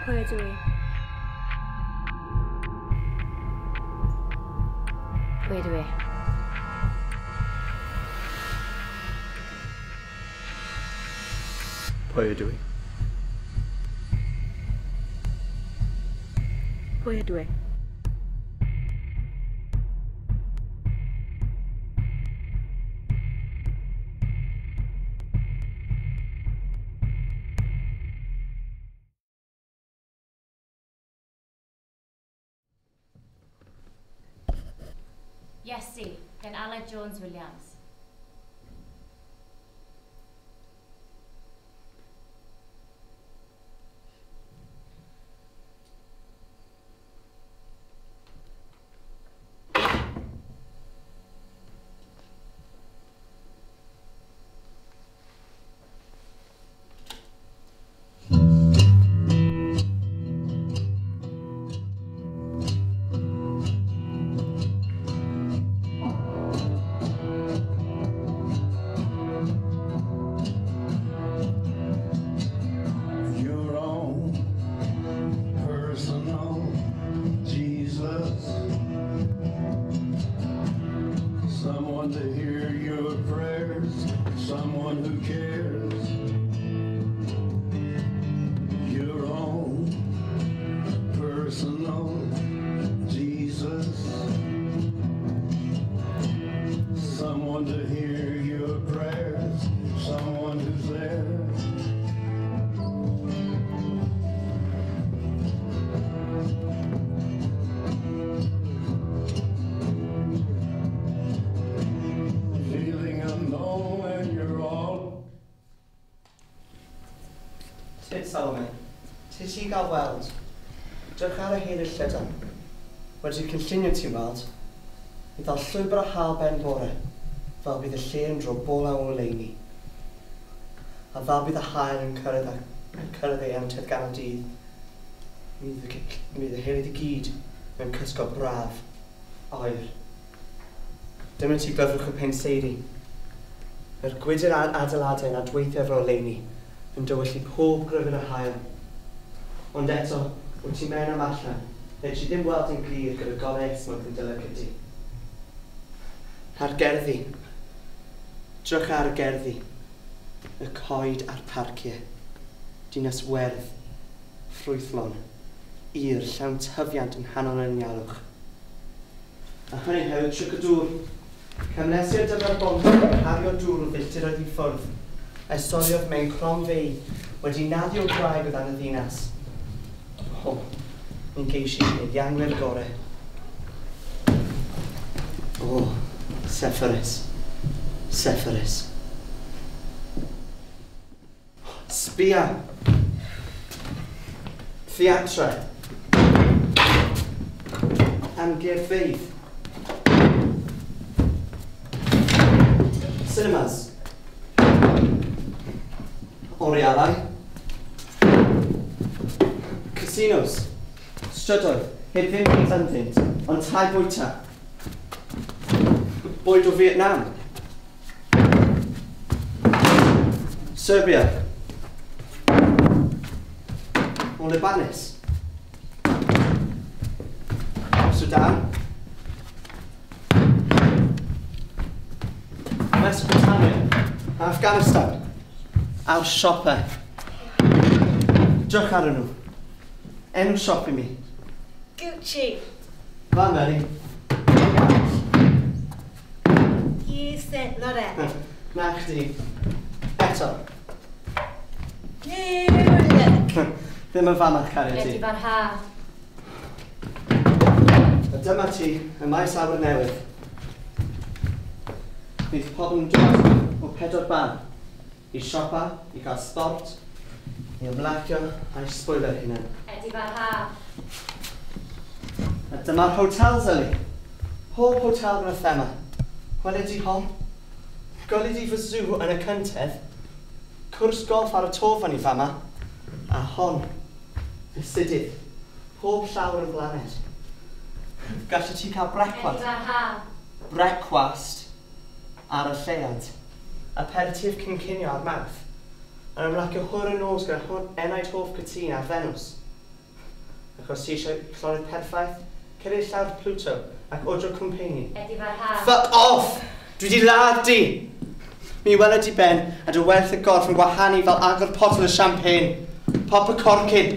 Pwy ydw i? Pwy ydw i? Pwy ydw i? Pwy ydw i? Iesu, gan Aled Jones Williams. Your own personal Jesus. Someone to hear your prayers, someone who cares. Your own personal Jesus. Someone to hear your prayers, someone who's there. Feeling alone and you're all Tyd Salome, ti ti gael weld. Drych ar y hen y llydan. Wedi cynllunio ti'n weld. I ddal llwybr a hael ben bore, fel bydd y lle yn dro bola o oleuni. A fel bydd y haul yn cyrraedd yn cyrraedd ei anterth ganol dydd. Mi fydd y helydd i gyd mewn cysgod braf, oer. Dyma ti glyfrwch y penseiri. Mae'r gwydr adeiladau yn adweithio efo'r oleuni, yn dywyllu pob gryfyn yr haul. Ond eto, wyt ti mewn am allan, neu ti ddim weld yn glir gyda golau esmwyth yn dy lygaid di. A'r gerddi. Drych ar y gerddi. Y coed a'r parciau. Dinas werdd, ffrwythlon, ir, llawn tyfiant yng nghanol yr anialwch. A hynny hefyd tric y dŵr. Camlesi'r dyfar bont yn cario dŵr o filltiroedd i ffwrdd, a'i storiodd mewn cronfeydd wedi naddu o graig o dan y ddinas. O, mi'n geisi peirianwyr gorau. O, Sepphoris. Sepphoris. Sbia! Theatre. Amgueddfeydd. Cinemas. Orialau. Casinos. Strydoedd, heb ddim byd ynddynt, ond tai bwyta. Bwyd o Vietnam. Serbia. O Libanus. Sudan. Mesopotamia. Afghanistan. A'r siopau. Drych arnyn nhw. Enw siop i mi. Gucci. Fan, Mary. Yves Saint Laurent. Na chdi. Eto. New Look. Ddim yn famach, cariad ti. Ydy farha. A dyma ti, y maes awyr newydd. Bydd pobl yn dod o pedwar ban. I siopa, i gael sport, i ymlacio a i sbwylio'r hunain. Ydy farha. A dyma'r hotels, Ellie. Pob hotel gyda thema. Gweli di hon? Gweli di fy zoo yn y cyntedd? Cwrs golf ar y to fan i fama. A hon, fy sidydd. Pob llawr yn blaned. Gallet ti cael brecwast. Ydy farha. Brecwast ar y lleuad. Aperitif cyn cinio ar Mawrth. Yn ymlacio hwyr y nos gyda enaid hoff cytûn ar Fenws. Achos ti eisiau llonydd perffaith, cyrraedd llawr Pluto ac odro cwmpeini. Edifarha. Fuck off! Dwi di ladd di! Mi weled di ben a dy werth y gorff yn gwahanu fel agor potel y champagne. Pop y corcyn.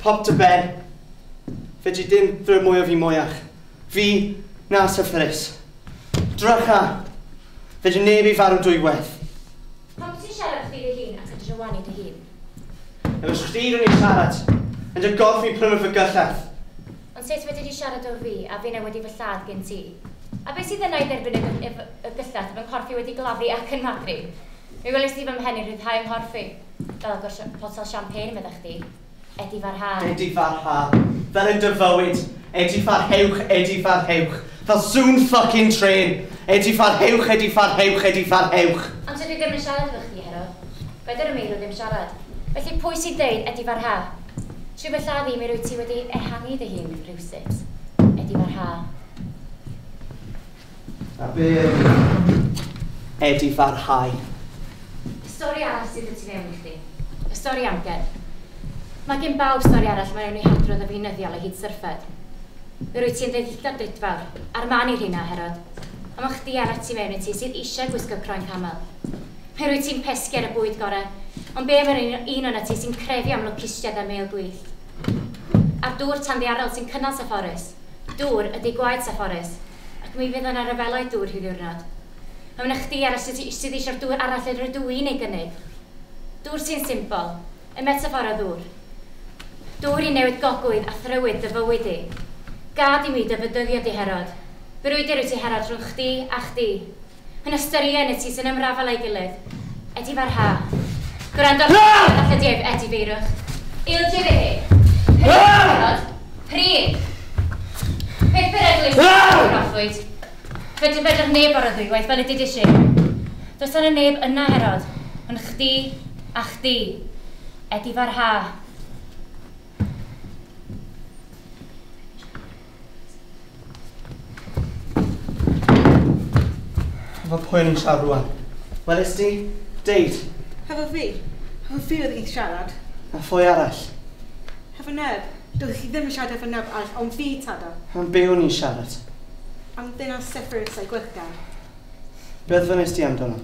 Pop dy ben. Fedri ddim ddweud mwy o fi mwyach. Fi na Syphilis. Drycha! Fedri neb i farw dwywaith. Pam ti'n siarad chdi dy hun ac yn drywanu dy hun? Efo chdi rwy'n i'n siarad. Yn dy gorff i'n prynu fy gyllell. Ond sut wedi di siarad o fi a finna wedi fy lladd gen ti? A beth sydd yna i dderbyn y gyllell fy nghorff i wedi gladdu ac yn magru? Mi weles di fy mhen i'n rhyddhau yng nghorff i. Fel agor potel champagne medda chdi. Edifarha. Edifarha. Fel yn dy fywyd. Edifarhewch, edifarhewch. Fel sŵn fucking train. Edifarhewch, edifarhewch, edifarhewch. Ond tydw i ddim yn siarad efo chdi, Hero. Fedr y meirw ddim siarad. Felly pwy sy'n deud edifarha? Trwy fy lladdu mi rwyt ti wedi ehangu dy hun rhywsut. Edifarha. A be edifarhau? Stori arall sydd y tu mewn i chdi. Y stori amgen. Mae gen bawb stori arall mae nhw'n ei hadrodd y feunyddiol o hyd syrffed. Mi rwyt ti'n ddeillad drudfawr, a'r man i'r hynna, Herod. A mae chdi arall tu mewn i ti sydd eisiau gwisgo croen camel. Mi rwyt ti'n pesgi ar y bwyd gorau, ond be am yr un o'na ti sy'n crefu am lwcusiad a mêl gwyllt? A'r dŵr tanddiarol sy'n cynnal Sepphoris. Dŵr ydy gwaed Sepphoris, ac mi fydd yna ryfeloedd dŵr rhyw ddiwrnod. A mae 'na chdi arall sydd eisiau'r dŵr arall yr ydw i'n ei gynnig. Dŵr sy'n symbol, y metafor o ddŵr. Dŵr i newid gogwydd a thrywydd dy fywyd i. Gad i mi dy fydyddio di, Herod. Brwydr wyt ti, Herod, rhwng chdi a chdi. Yn ystyried y ti sy'n ymrafel a'i gilydd. Edifarha. Gwrando ar all y dief, edifeirwch. Ildio fi hi. Herod. Pryd. Peth beryglus yw'r proffwyd. Fedr fedr neb ar y ddwywaith fel y dudis i. Does yna neb yna, Herod, ond chdi a chdi. Edifarha. Efo pwy o'n i'n siarad rwan? Weles di? Deud. Hefo fi? Hefo fi oedd hi'n siarad. A phwy arall? Hefo neb. Doedd chi ddim yn siarad efo neb arall, ond fi, Tada. Am be o'n i'n siarad? Am ddynas Sepphoris a'i gwyllgar. Beth fynnais ti amdano?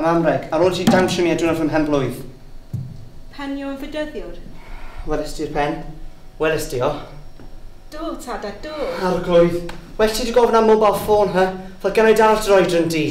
Am amreg, ar ôl ti dawnsio mi a diwrnod fy mhen blwydd. Pen yw'n fydyddiwr. Weles ti'r pen? Weles ti o? Do, Tada, do. Arglwydd. Well ti 'di gofyn am mobile phone, hy? Fel gen i dal dy oedran di.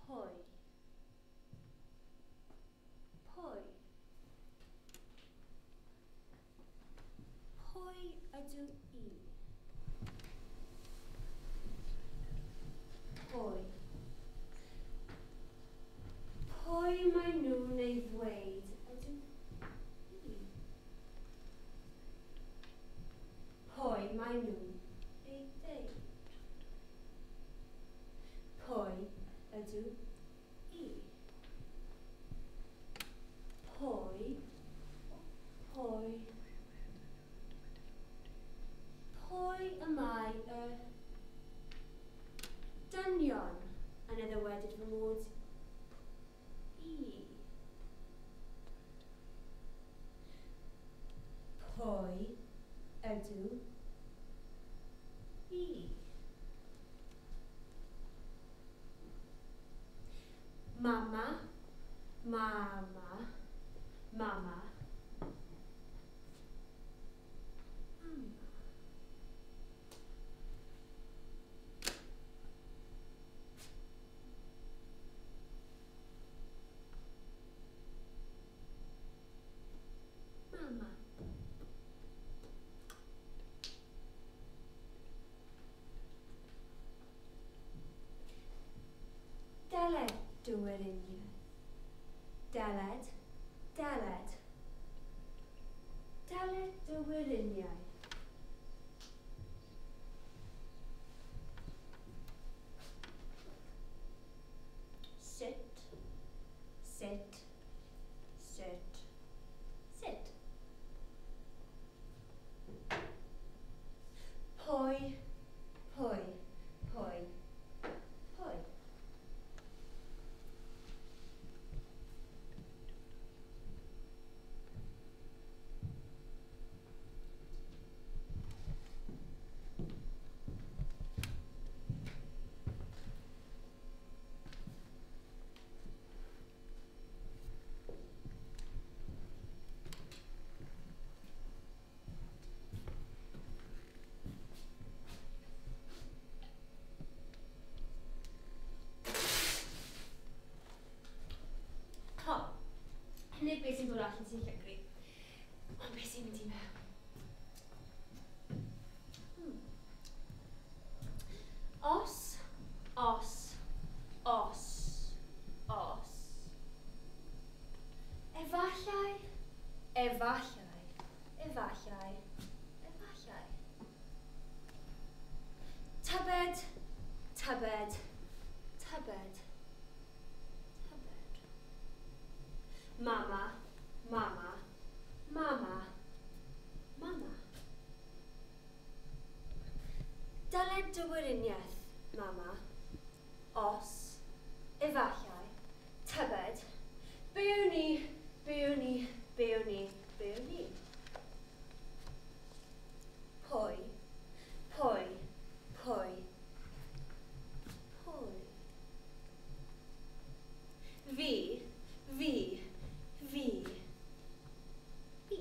Pwy? Pwy ydw i? Pwy? Pwy mae nhw'n ei ddweud ydw i? Pwy mae nhw'n ei ddeud? Pwy ydw i? Pwy, pwy, pwy y mae y dynion yn ei ddywedyd fy mod i? Pwy ydw i? Mama, mama, mama, mama. Deled dy weriniaeth. Deled, deled. Deled dy weriniaeth. Sit, sit, sit, sit. Pwy, pwy, pwy, pwy. Ho, nid beth sy'n dod allan sy'n llygru, ond beth sy'n mynd i mewn. Os, os, os, os. Efallai, efallai, efallai, efallai. Tybed, tybed, tybed. Mama, mama, mama, mama. Dyled dy weriniaeth, mama. Os, efallai, tybed, byw ni, byw ni, byw ni, byw ni. Pwy, pwy, pwy, pwy. Fi, fi, fi, fi.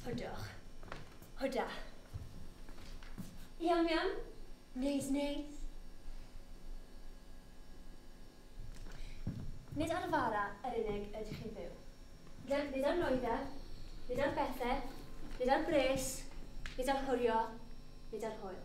Hwdwch. Hwda. Iawn, iawn. Neis, neis. Nid ar fara yr unig ydych chi'n byw. Nid ar nwyddau, nid ar bethau, nid ar bres, nid ar hwrio, nid ar hwyl.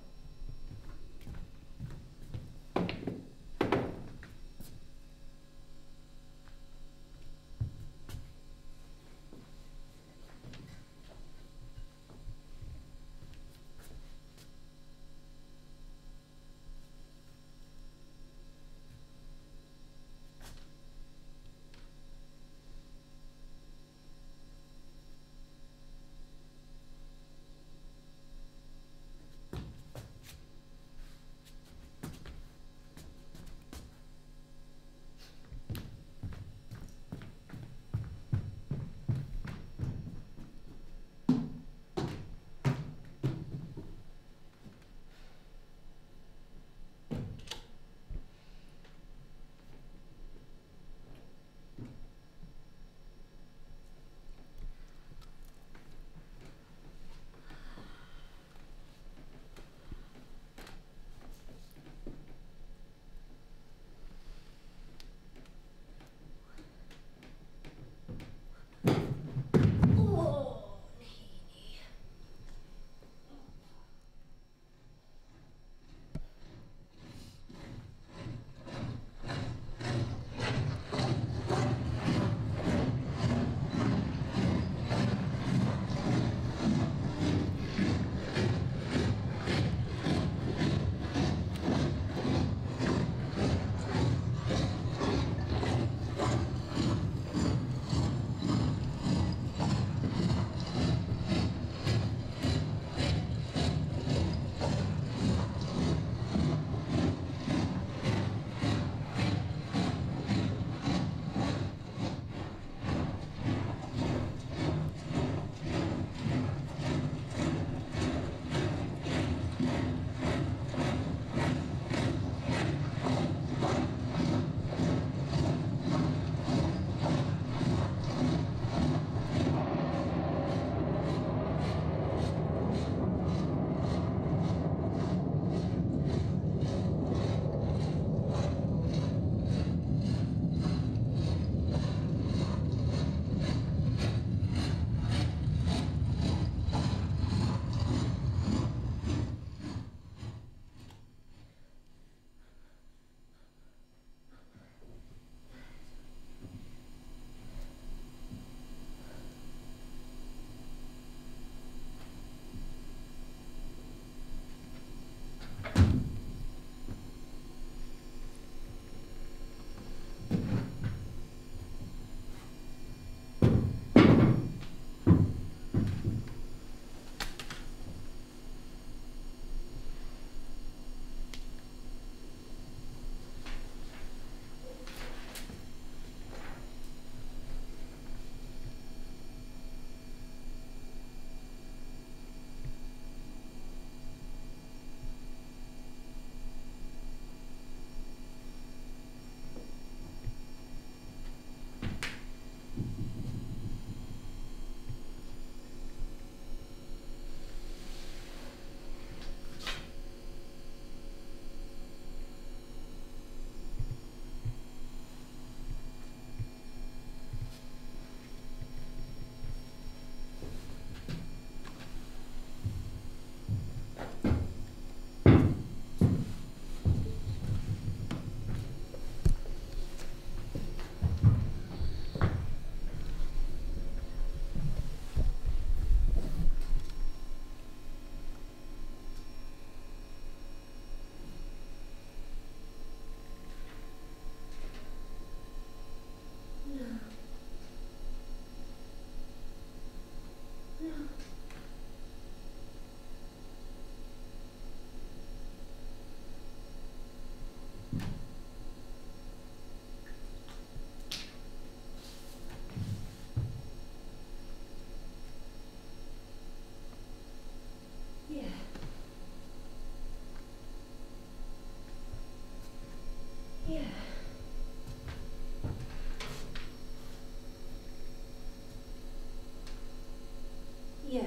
Ie. Ie.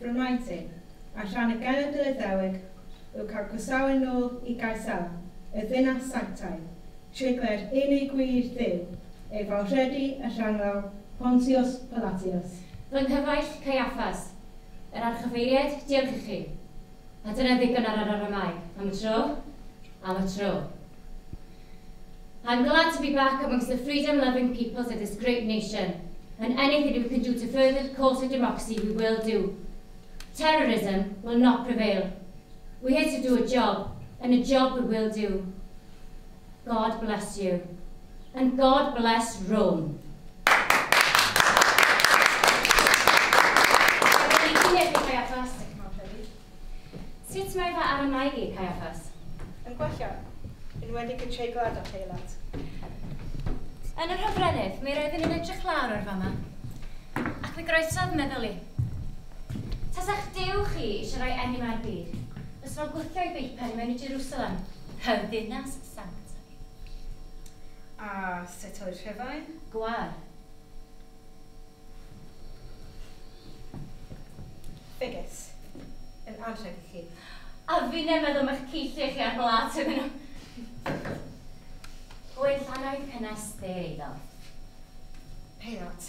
Rhymaintyn, a rhan y genedl Iddewig yw cael croesawu nôl i Gaersalem, y ddinas sanctaidd, treigler unig gwir Dduw, ei fawrhydi y rhanglaw Pontius Pilatius. Fy nghyfaill Caiaffas, yr archyfeiriad, diolch i chi. A dyna ddigon ar yr Aramaeg. Am y tro, am y tro. I'm glad to be back amongst the freedom-loving peoples of this great nation, and anything we can do to further the cause of democracy we will do. Terrorism will not prevail. We're here to do a job, and a job we will do. God bless you, and God bless Rome. Sut mae fy Aramaeg i, Caiaffas? Yn gwella, enwedig y treiglad a Peilat. Yn yr hofrennydd, mi roeddwn i'n edrych lawr o'r fama, ac mi groesodd meddwl i. Tasa'ch Duw chi eisiau rhoi enw ar byd, fes fo'n gwthio ei beipen mewn i Jerusalem, y ddinas sanctaidd. A sut oedd Rhufain? Gwar. Ffigys. Yn anrheg i chi. A fi'n meddwl ma'ch ceilliau chi ar blat iddyn nhw. Gwen llanoedd cynnes dde iddo. Peilat,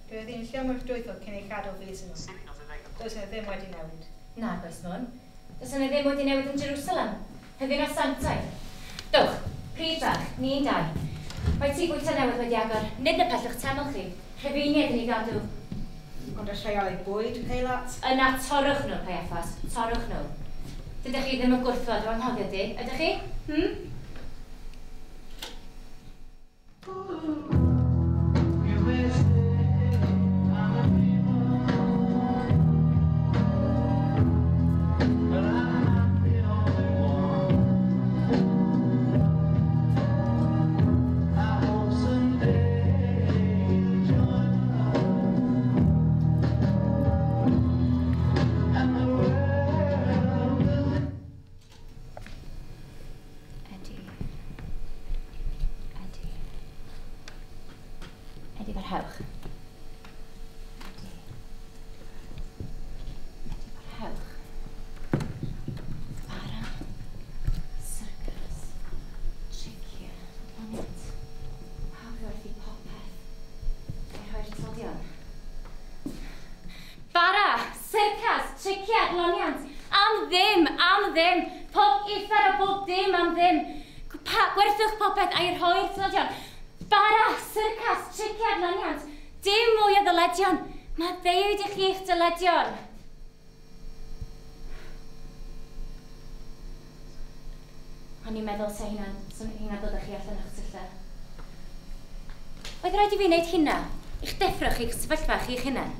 roedd hi'n llym o'r dwytho cyn ei chadw fis yn ôl. Does yna ddim wedi newid. Na, does mwyn. Does yna ddim wedi newid yn Jerusalem. Y ddinas sanctaidd. Dowch, pryd bach, ni'n dau. Mae tŷ bwyta newydd wedi agor, nid na pellwch teml chi. Rhufeiniaid yn ei gadw. Ond y rheoli bwyd, Peilat? Yna torrwch nhw, Caiaffas. Torrwch nhw. Dydych chi ddim yn gwrthod o anghofio di, ydych chi? Ydy parhewch. Ydy parhewch. Bara, syrcas, tricia, adloniant. Pawb werthu popeth. Ei rhoi'r tlodion. Bara, syrcas, tricia, adloniant. Am ddim, am ddim. Pob uffar a bob dim am ddim. Gwerthwch popeth a'i rhoi'r tlodion. Bara, syrcas, tricia, adloniant. Dim mwy o ddyledion. Mae ddeud i chi eich dyledion. O'n i'n meddwl sa hynna'n dod â chi allan o'ch tylla. Oedd rhaid i fi wneud hynna? I'ch deffro chi'ch sefyllfa chi'ch hunan?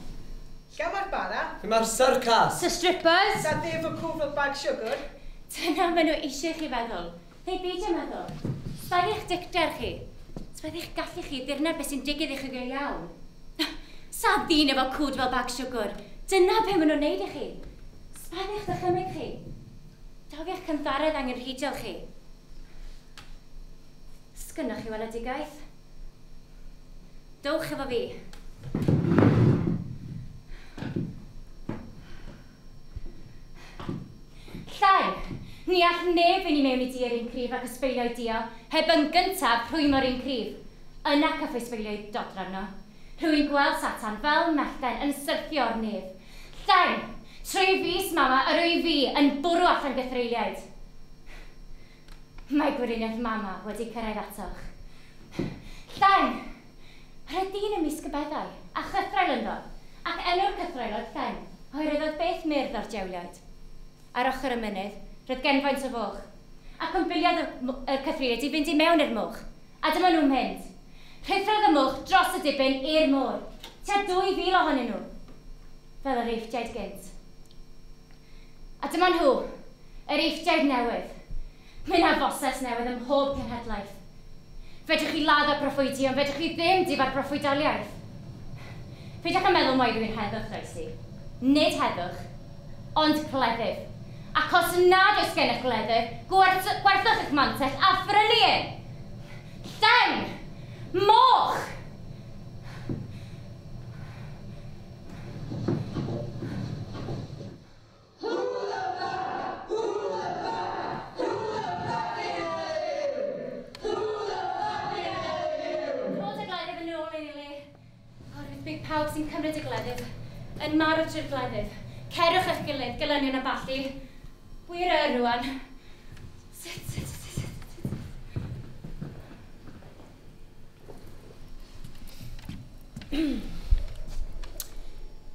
Lle mae'r bara? Lle mae'r syrcas? Sa strippers? Sa ddef o cwfl bag siwgr? Dyna maen nhw eisiau chi feddwl. Neu beidio meddwl. Sbaedd eich dicter chi. Sbaedd eich gallu chi ddirnad beth sy'n digwydd i chi go iawn. Sa ddyn efo cwd fel bag siwgr. Dyna be maen nhw'n neud i chi. Sbaddu'ch dychymyg chi. Dofi'ch cyntharedd angenrheidiol chi. Sgynnoch chi weledigaeth? Dowch efo fi. Llai! Ni all neb fynd i mewn i dir un cryf ac ysbeilio'i dio, heb yn gyntaf rhwymo'r un cryf. Yna caffo ysbeilio'i dodrefn arno. Rwy'n gweld Satan fel mellten yn syrthio o'r nef. Llai! Trwy fys mama yr wyf fi yn bwrw allan gythreuliaid. Mae gweriniaeth mama wedi cyrraedd atoch. Llai! Yr oedd dyn ymysg y beddau, a chythraul ynddo, ac enw'r cythraul oedd Llen, oherwydd oedd beth myrdd o'r diawliaid. Ar ochr y mynydd, roedd genfaint o foch, ac ymbiliodd y cythreuliaid i fynd i mewn i'r moch, a dyma nhw'n mynd. Rhuthrodd y moch dros y dibyn i'r môr, tua 2,000 ohonyn nhw, fel yr Eifftiaid gynt. A dyma nhw, yr Eifftiaid newydd. Mae 'na Foses newydd ym mhob cenhedlaeth. Fedrwch chi ladd y proffwydi, ond fedrwch chi ddim difa'r proffwydoliaeth. Peidiwch â meddwl mai rwy'n heddwch, does i. Nid heddwch, ond cleddyf. Ac os nad oes gennych gleddyf, gwerthwch eich mantell a phrynu un! Lleng! Moch! Rhod y gleddyf yn ôl yn ei le. Oherwydd bydd pawb sy'n cymryd y gleddyf yn marw trwy'r gleddyf. Cerwch eich gilydd, gelynion a ballu. Wir yr rwan. Sut, sut, sut, sut, sut.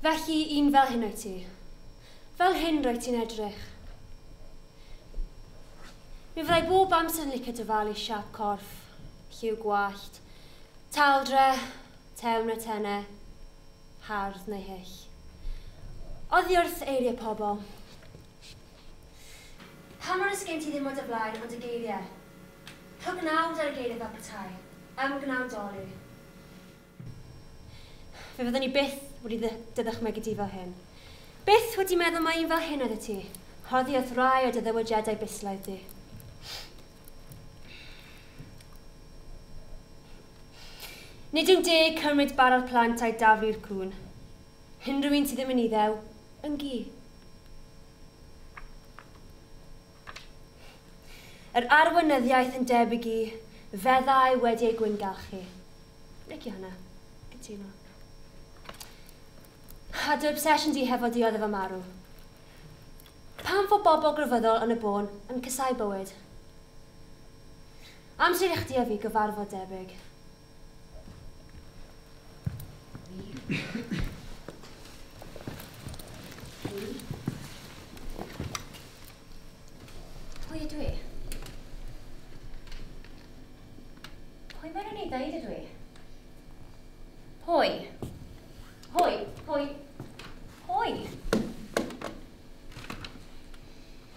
Felly, un fel hyn wyt ti. Fel hyn rwyt ti'n edrych. Mi fyddai bob amser yn licio dyfalu siâp corff, lliw gwallt, taldre, tew neu tene, hardd neu hyll. Oddi wrth eiriau pobl. Pam nad oes gen ti ddim o dy flaen ond y geiriau? Rho gnawd ar y geiriau fel petai, ymgnawdoli. Fe fyddwn i byth wedi dy ddychmygu di fel hyn. Byth wedi meddwl mai un fel hyn oeddet ti. Oddi wrth rai o dy ddywediadau bislaidd di. Nid yw'n deg cymryd bara'r plant a'i daflu i'r cŵn. Unrhyw un sydd ddim yn Iddew, yn gi. Yr arweinyddiaeth yn debyg i feddau wedi ei gwyngalchu. Licio hynna. Cytuno. A dy obsession di hefo dioddef a marw. Pam fod bobl grefyddol yn y bôn yn casáu bywyd? Amser i chdi a fi gyfarfod debyg. Pwy ydw i? Pwy maen nhw'n ei ddeud ydw i? Pwy? Pwy? Pwy? Pwy?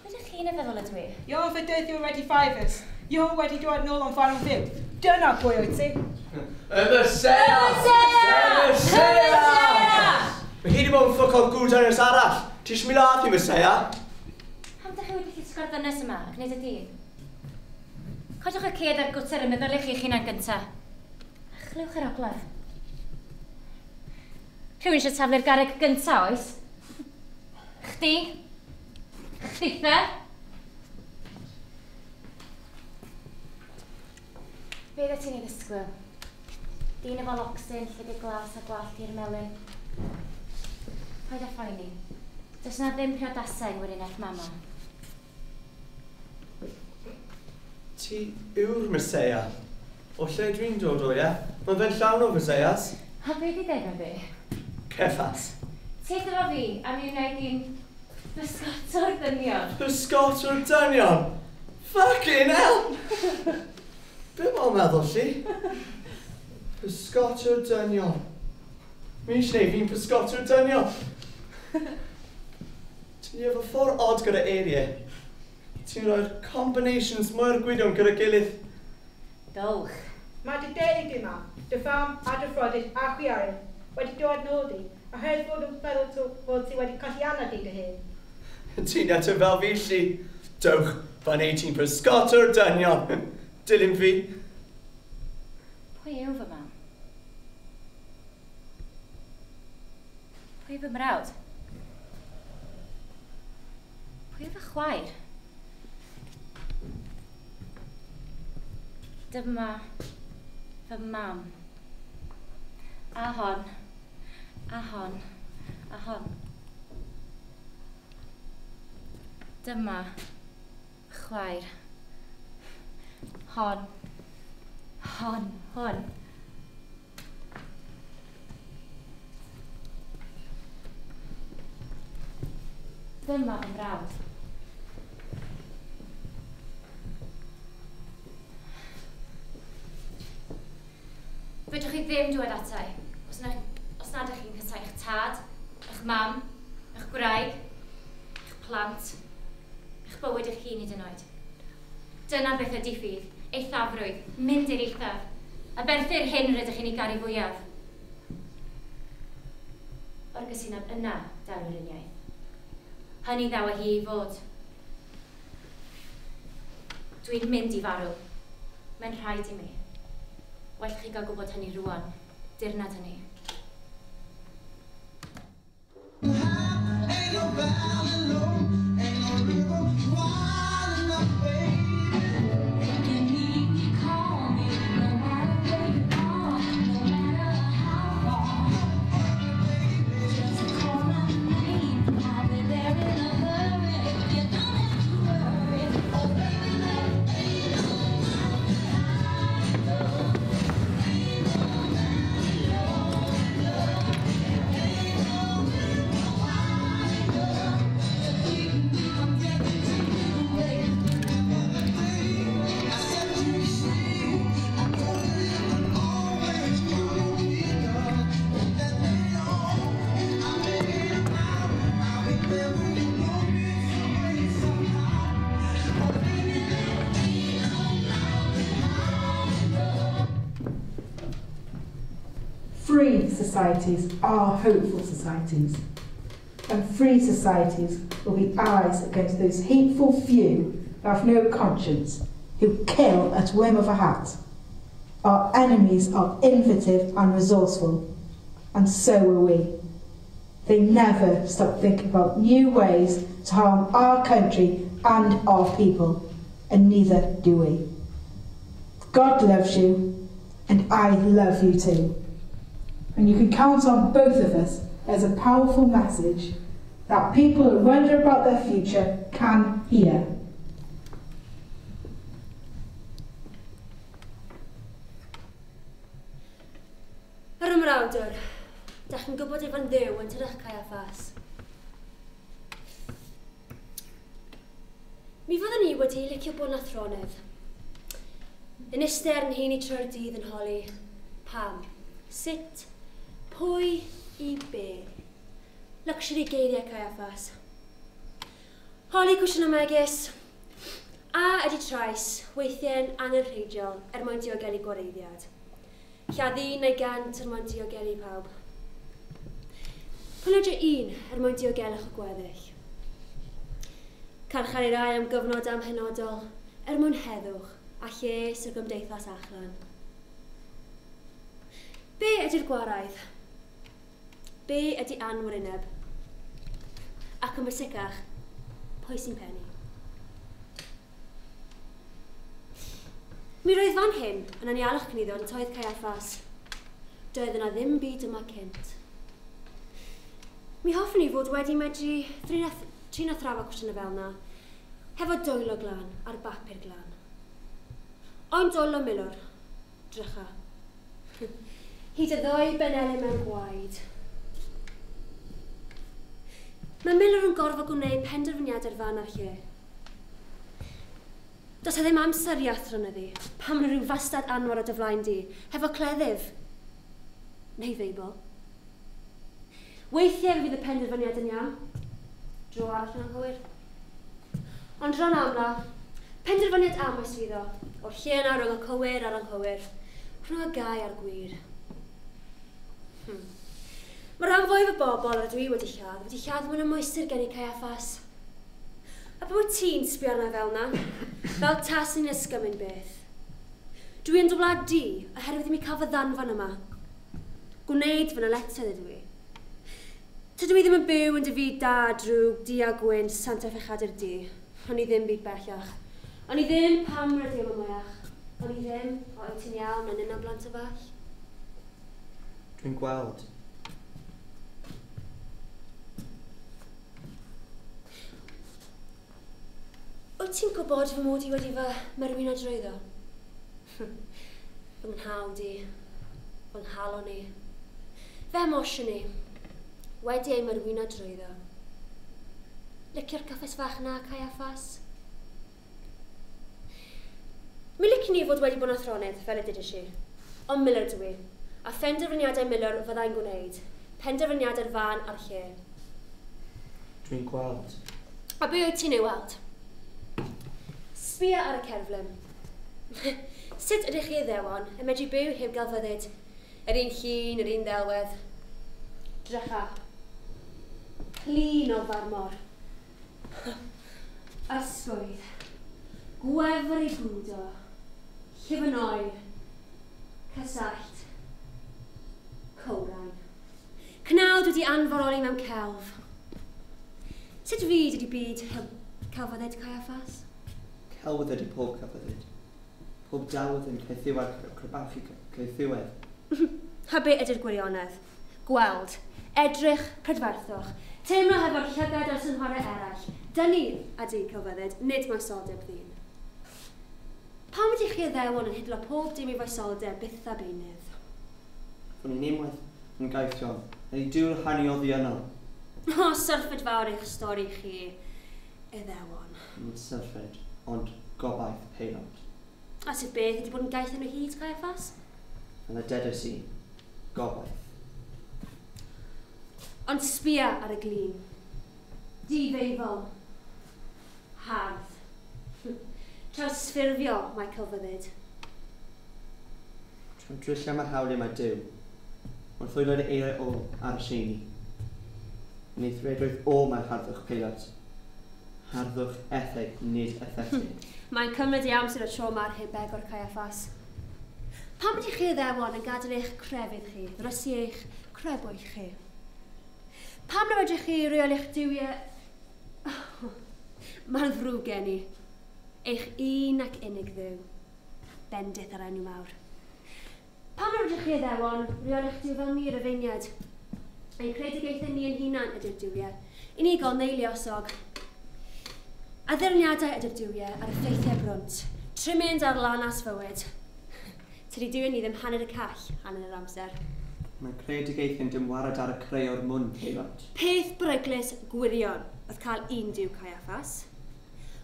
Pwy ydych chi'n ei feddwl ydw i? You're fedyddiwr wedi Fifers. You're wedi dod nôl o'n ffordd yn fyw. Dyna pwy wyt ti. Y Meseia! Y Meseia! Mae hi wedi bod yn ffwc o'r gwd ar arall. Ti eisiau mi ladd hi, Meseia? Pam dych chi wedi llusgo'r ddynes yma ac wneud y dyn? Codwch y ced a'r gwter yn meddyliwch chi'ch hunan gynta. A chlywch yr oglaf. Rhywun eisiau taflu'r garreg gynta, oes? Chdi? Chditha? Be oeddet ti'n ei ddisgwyl? Dyn efo locsyn, llygad glas a gwallt hir melyn. Paid â phoeni. Does 'na ddim priodasau yng ngweriniaeth mama. Ti yw'r Meseia. O lle dwi'n dod o, ie? Mae fe'n llawn o Feseias. A be di deg fi? Ceffas. Ti efo fi, a mi wna i di'n bysgotwr dynion. Bysgotwr dynion? Fucking hell! Be mae'n meddwl, lli? Pysgotwr dynion. Mi eisiau gwneud fi'n pysgotwr dynion. Ti'n efo ffordd odd gyda eiriau. Ti'n rhoi'r combinations mwy'r gwydion gyda gilydd. Dowch. Mae dy deulu di yma, dy fam a dy frodyr a chwiorydd, wedi dod nôl di, oherwydd fod yn feddwl fod ti wedi colli anad i dy hun. Ti'n eto fel fi, Lli. Dewch, fan ei ti'n pysgota'r dynion. Dilyn fi. Pwy yw fy mam? Pwy yw fy mrawd? Pwy yw fy chwaer? Dyma fy mam. A hon, a hon, a hon. Dyma chwaer. Hon, hon, hon. Dyma fy mrawd. Fedrwch chi ddim dŵad ata i, os nad ydych chi'n casáu eich tad, eich mam, eich gwraig, eich plant, eich bywyd eich hun hyd yn oed. Dyna beth ydy ffydd, eithafrwydd, mynd i'r eithaf, a berthu'r hyn rydych chi'n ei garu fwyaf. O'r gysineb yna daw yr uniaith. Hynny ddaw â hi i fod. Dwi'n mynd i farw. Mae'n rhaid i mi. Well chi gael gwybod hynny rŵan, dirnad hynny. Ain't no valley low, ain't no river wide enough, baby. If you need me, call me, no matter where you are, no matter how far. Just call my name, I'll be there in a hurry. You don't have to worry, oh baby, there ain't no mountain high enough, ain't no valley low enough, ain't no river wide enough to keep me from getting to you, baby. Everything I set you free. I know that it will always be enough. Let me know I make it out. I'll be there when you want me some way, somehow. Oh, baby, there ain't no mountain high enough. Free societies are hopeful societies, and free societies will be allies against those hateful few who have no conscience, who kill at whim of a hat. Our enemies are innovative and resourceful, and so are we. They never stop thinking about new ways to harm our country and our people, and neither do we. God loves you, and I love you too. And you can count on both of us as a powerful message that people who wonder about their future can hear. Yr ymrawdwr, dach chi'n gwybod ei fan Dduw yn tydych Caiaffas. Mi fyddwn ni wedi licio bod yn athronydd. Yn eistedd yn heini trwy'r dydd yn holi, pam, sut, pwy, i be. Luxury geiriau Caiaffas. Holi cwestiwn megis, a ydy trais weithiau'n angenrheidiol er mwyn diogelu gwareiddiad? Lladd un neu 100 er mwyn diogelu pawb. Pwylio un er mwyn diogelwch y gweddill. Carcharu rai am gyfnod amhenodol er mwyn heddwch a lles y gymdeithas achlan. Be ydy'r gwaraidd? Be ydy anwryneb? Ac yn bwysicach, pwy sy'n pennu? Mi roedd fan hyn yn anialwch cyniddo yn toedd Caiaffas. Doedd yna ddim byd yma cynt. Mi hoffwn i fod wedi medru trin a thrafod cwestiynau fel yna, hefo dwylo glân ar bapur glân. Ond dwylo milwr, drycha. Hyd y ddwy benelin mewn gwaed. Mae milwr yn gorfod gwneud penderfyniad ar fan a'r lle. Does e ddim amser i athronyddu, pam mae rhyw fastad anwar o dy flaen di, hefo cleddyf. Neu Feibl. Weithiau fydd y penderfyniad yn iawn. Dro arall yn anghywir. Ond rhan amla, penderfyniad amwys fydd o, o'r lle yna rhwng y cywir a'r anghywir, rhwng y gau a'r gwir. Mae rhan fwyaf o bobl rydw i wedi lladd mewn ymwysir gen i Caiaffas. A pam wyt ti'n sbio arna fel na? Fel tas ni'n ysgymyn beth. Dwi yn dy wlad di oherwydd i mi cael fy ddanfon yma. Gwneud fy nyletswydd ydw i. Tydw i ddim yn byw yn dy fyd da, drwg, du a gwyn, sant a phechadur di. O'n i ddim byd bellach. O'n i ddim pam rydw i yma mwyach. O'n i ddim, o wyt ti'n iawn, yn un o blant y fall. Dwi'n gweld. Wyt ti'n gwybod fy mod i wedi fy merwyn a drwyddo? Fy nghnawd i, fy nghalon i, fy emosiwn i, wedi ei merwyno drwyddo. Licio'r cyffes fach na, Caiaffas? Mi licen i fod wedi bod yn athronydd, fel y dudais i. Ond Miller dwi, a phenderfyniadau Miller fyddai'n gwneud. Penderfyniadau'r fan a'r lle. Dwi'n gweld. A be wyt ti'n ei weld? Sbia ar y cerflun. Sut ydych chi Iddewon yn medru byw heb gelfyddyd? Yr un llun, yr un ddelwedd. Drycha. Clun o farmor. Ysgwydd. Gwefr ei bwdo. Llif yn oer. Cysallt. Cowrain. Cnawd wedi anforoli mewn celf. Sut fyd ydi byd heb celfyddyd, Caiaffas? Celfyddyd ydi pob celfyddyd. Pob dawdd yn caethiwed crebachu caethiwedd. A be ydy'r gwirionedd? Gweld. Edrych, prydferthwch. Teimlo hefo'r llygad a'r synhorau eraill. Dyni ydy celfyddyd, nid moesoldeb ddyn. Pam ydych chi Iddewon yn hidlo pob dim i foesoldeb byth a beunydd? Fwn i'n unwaith yn gaethion, a i dŵr hanu oddi yno. O, syrffed fawr eich stori chi, Iddewon. Nid syrffed, ond gobaith peilot. A sut beth ydi bod yn gaeth yn o hyd, Caiaffas? Fel y dedes i, gobaith. Ond sbia ar y glin. Difeifol. Hardd. Trawsffurfio mae celfyddyd. Trwy drilliau mae hawliau mae Duw, wrth oelod eiriau o ar y seini. Yn ei thredoedd o mae harddwch peilot. Harddwch etheg, nid ethetig. Mae'n cymryd ei amser y tro mae'r hebeg o'r Caiaffas. Pam ydych chi Iddewon yn gadael eich crefydd chi, ddrysu eich crebwyll chi? Pam na fedrwch chi reoli'ch duwiau? Mae'n ddrwg gen i. Eich un ac unig dduw. Bendith ar enw mawr. Pam na fedrwch chi Iddewon reoli'ch duw fel ni Rufeiniaid? Ein creadigaethau ni yn hunan ydy'r duwiau. Unigol neu luosog. Addurniadau ydy'r duwiau a'r effeithiau brwnt. Trimynd ar lanas fywyd. Tydi duwiau ni ddim hanner y call, hanner yr amser. Mae creadigaethau'n dymwarad ar y creu o'r mwyn, peilot. Peth beryglus gwirion oedd cael un duw Caiaffas.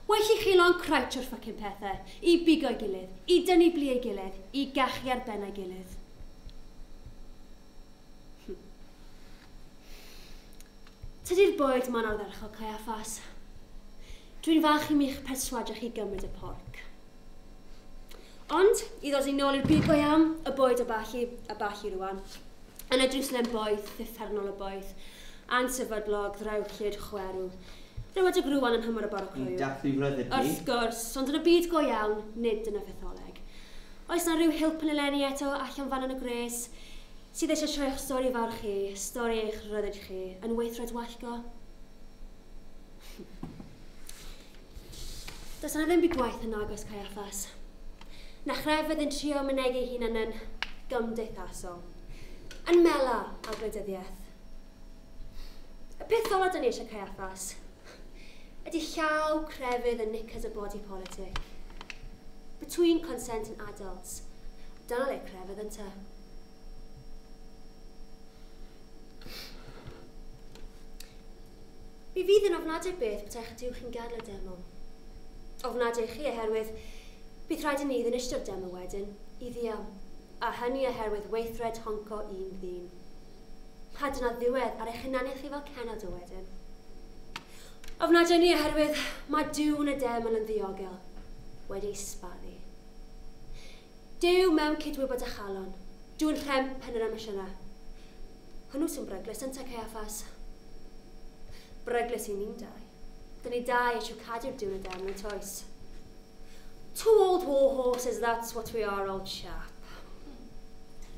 Well i chi lon crouch o'r ffycin pethau, i bigo'i gilydd, i dynnu blu ei gilydd, i gachu ar ben ei gilydd. Tydi'r bwyd ma'n ardderchog, Caiaffas. Dwi'n falch i mi'ch perswadio chi gymryd y porc. Ond, i ddod i nôl i'r byd go iawn, y bwyd a ballu rwan. Yn y Jerusalem boeth, uffernol y boeth, ansefydlog, ddrewllyd, chwerw. Rhywbeth o grwan yn hymor y bore croyw. Ni'n dathlu ryddid ni. Wrth gwrs, ond yn y byd go iawn, nid dyna fytholeg. Oes na rhyw hilp yn eleni eto allan fan yn y gres, sydd eisiau troi'ch stori fawr chi, stori eich ryddid chi, yn weithred wallgo? Does yna ddim byd gwaith yn agos, Caiaffas. Na chrefydd yn trio mynegi hunan yn gymdeithasol. Yn mela a gwleidyddiaeth. Y peth ola dyn ni eisiau Caiaffas ydy llaw crefydd yn knickers y body politic. Between consent and adults. Dyna le crefydd ynte. Mi fydd yn ofnadwy beth betaech duw chi'n gadael y demo. Ofnadwy chi oherwydd bydd rhaid i ni ddinistrio'r demo wedyn, i ddial. A hynny oherwydd weithred honco un ddyn. A dyna ddiwedd ar eich hunaniaeth chi fel cenedl wedyn. Ofnadwy ni oherwydd mae Duw yn y deml yn ddiogel, wedi sbaddu. Duw mewn cydwybod a chalon, Duw yn rhemp yn yr emosiynau. Hwnnw sy'n bryglus yn Caiaffas. Bryglus i ni'n dau. Dyn ni dau eisiau cadw'r dŵr y deml toes. Two old war horses, that's what we are, old chap.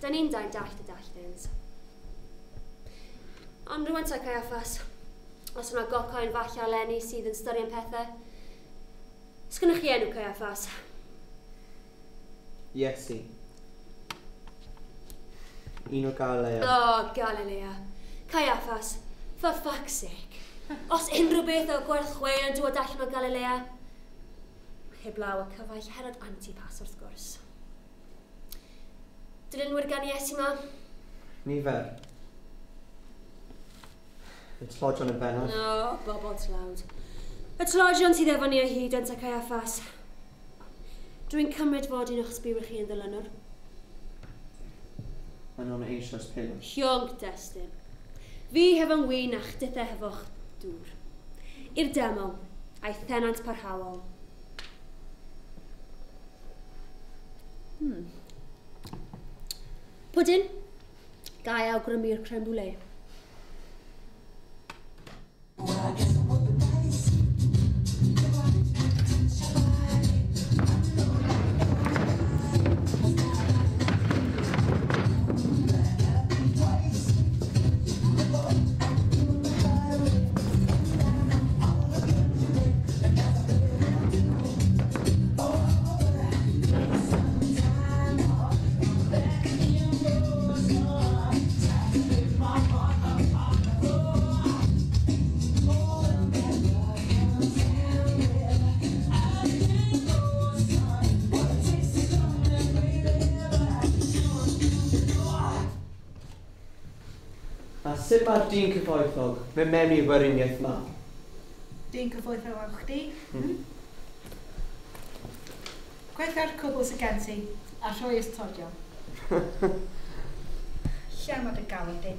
Dyn ni'n dau'n dallt y dalltins. Ond rwan ta Caiaffas, os yna gocoen falle eleni sydd yn styried pethau, sgynnoch chi enw Caiaffas? Iesu. Un o Galilea. O, Galilea. Caiaffas, for fuck's sake. Os unrhyw beth o gwerth chweil yn dod allan o Galilea, heblaw y cyfaill Herod Antipas wrth gwrs. Dilynwyr gan Iesu ma? Nifer. Y tlodion yn bennaf. No, bobl tlawd. Y tlodion sydd efo ni o hyd yn Caiaffas. Dwi'n cymryd fod un o'ch sbiwyr chi yn ddilynwr. Mae nhw'n eisoes pilw. Hiong destun. Fi hefo'n win a chdithe hefo'ch dŵr. I'r deml, a'i thenant parhaol. Pwdin, gai awgrymu'r crème brûlée. A sut mae'r dyn cyfoethog mewn mewn i'r weriniaeth ma? Dyn cyfoethog o chdi? Gwertha'r cwbl sydd gen ti, a rhoi ystodion. Lle mae dy galon di?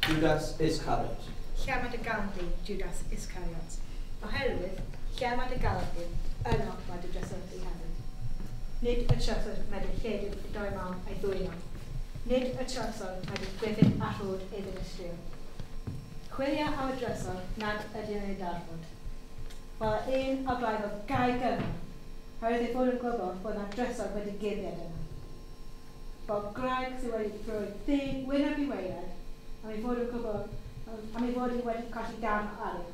Judas Iscariot. Lle mae dy galon di, Judas Iscariot? Oherwydd, lle mae dy galon di, yno mae dy drysor di hefyd. Nid y trysor mae dy lledu y doi mawn a'i ddwylo. Nid y trysor mae dy gwyfyn a rhod ei ddinistrio. Chwilia am y drysor nad ydy yn ei darfod. Wel, un o blaid o gau gyfan, oherwydd ei fod yn gwybod bod yna drysor wedi guddiad yna. Bob gwraig sydd wedi rhoi ddeg wyneb i waered, am ei fod yn gwybod, am ei fod hi wedi colli darn o arian.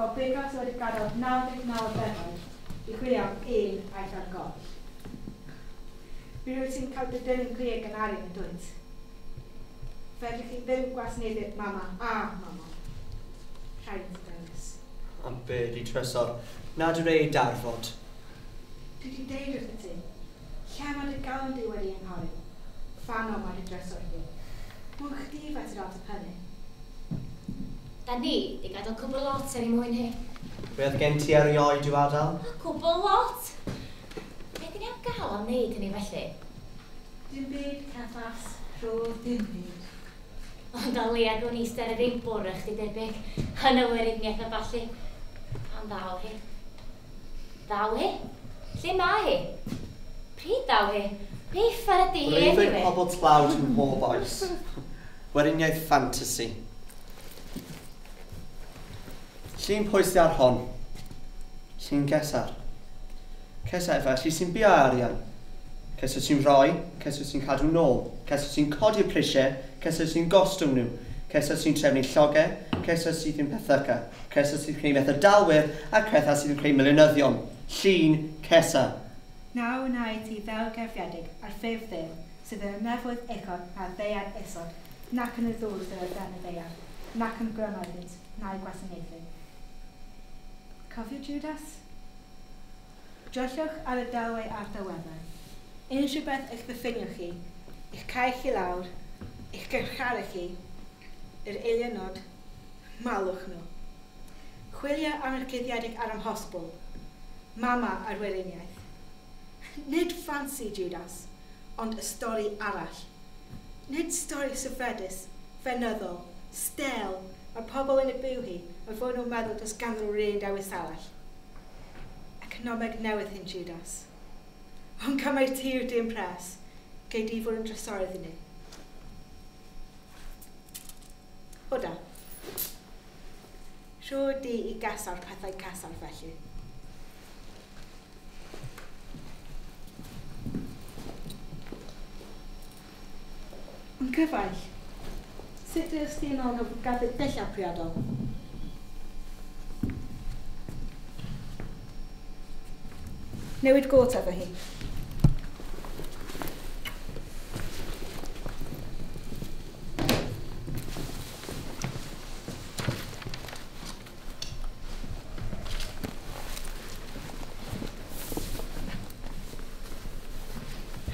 Bob bugail sydd wedi gadael 99 o ddefaid i chwilio am un aeth ar goll. Mi rwyt ti'n cael dy dynnu'n glir gan arian yn dwyt. Fedrwch chi ddim gwasanaethu mama a mama. Rhaid i ti ddewis. Am be di trysor, nad yw'r ei darfod. Dwi wedi deud wrtho ti, lle mae dy galon di wedi anghori? Fano mae dy drysor di. Mwyn chdi fe sydd ateb hynny. Da ni di gadael cwbl lot er i mwyn hi. Be oedd gen ti erioed i'w adael? Cwbl lot? Be di ni am gael am wneud hynny felly? Dim byd, Caiaffas, rhodd dim byd. Ond o leia gwn i eistedd ar yr un bwrdd chdi debyg, yn y weriniaeth a ballu. Pan ddaw hi? Ddaw hi? Lle mae hi? Pryd ddaw hi? Be uffar ydi hi Breuddwyd anyway? pobl tlawd yn mhob oes. Weriniaeth ffantasi. Llun pwy sydd ar hon? Llun Cesar. Cesar felly sy'n bio arian. Cesar sy'n rhoi, Cesar sy'n cadw nôl, Cesar sy'n codi'r prisiau, Cesar sy'n gostwng nhw, Cesar sy'n trefnu llogau, Cesar sydd yn pethyca, Cesar sy'n creu methdalwyr, a Cesar sydd yn creu milionyddion. Llun Cesar. Nawr wna i ti ddel gerfiedig ar ffurf Dduw sydd yn y nefoedd uchod a'r ddaear isod, nac yn y ddŵr sydd ar dan y ddaear, nac yn grymoedd iddynt, na'i gwasanaethu. Cofio Judas? Dryllwch ar y delwau a'r delweddau. Unrhyw beth eich ddiffinio chi, eich cau chi lawr, eich garcharu chi, yr eilionod, malwch nhw. Chwilio am yr cuddiedig a'r amhosibl, mama a'r weriniaeth. Nid ffansi Judas, ond y stori arall. Nid stori syfredus, fenyddol, stel, mae pobl yn y byw hi, mae fod nhw'n meddwl does ganddyn nhw 'run dewis arall. Economeg newydd hyn Judas. Ond cymryd ti yw'r dyn pres. Gei di fod yn drysorydd i ni. Oda. Rho di i gasar pethau casar felly. Yn cyfaill, sut ydych ti yn ôl o gadw dillad priodol? Newid got efo hi.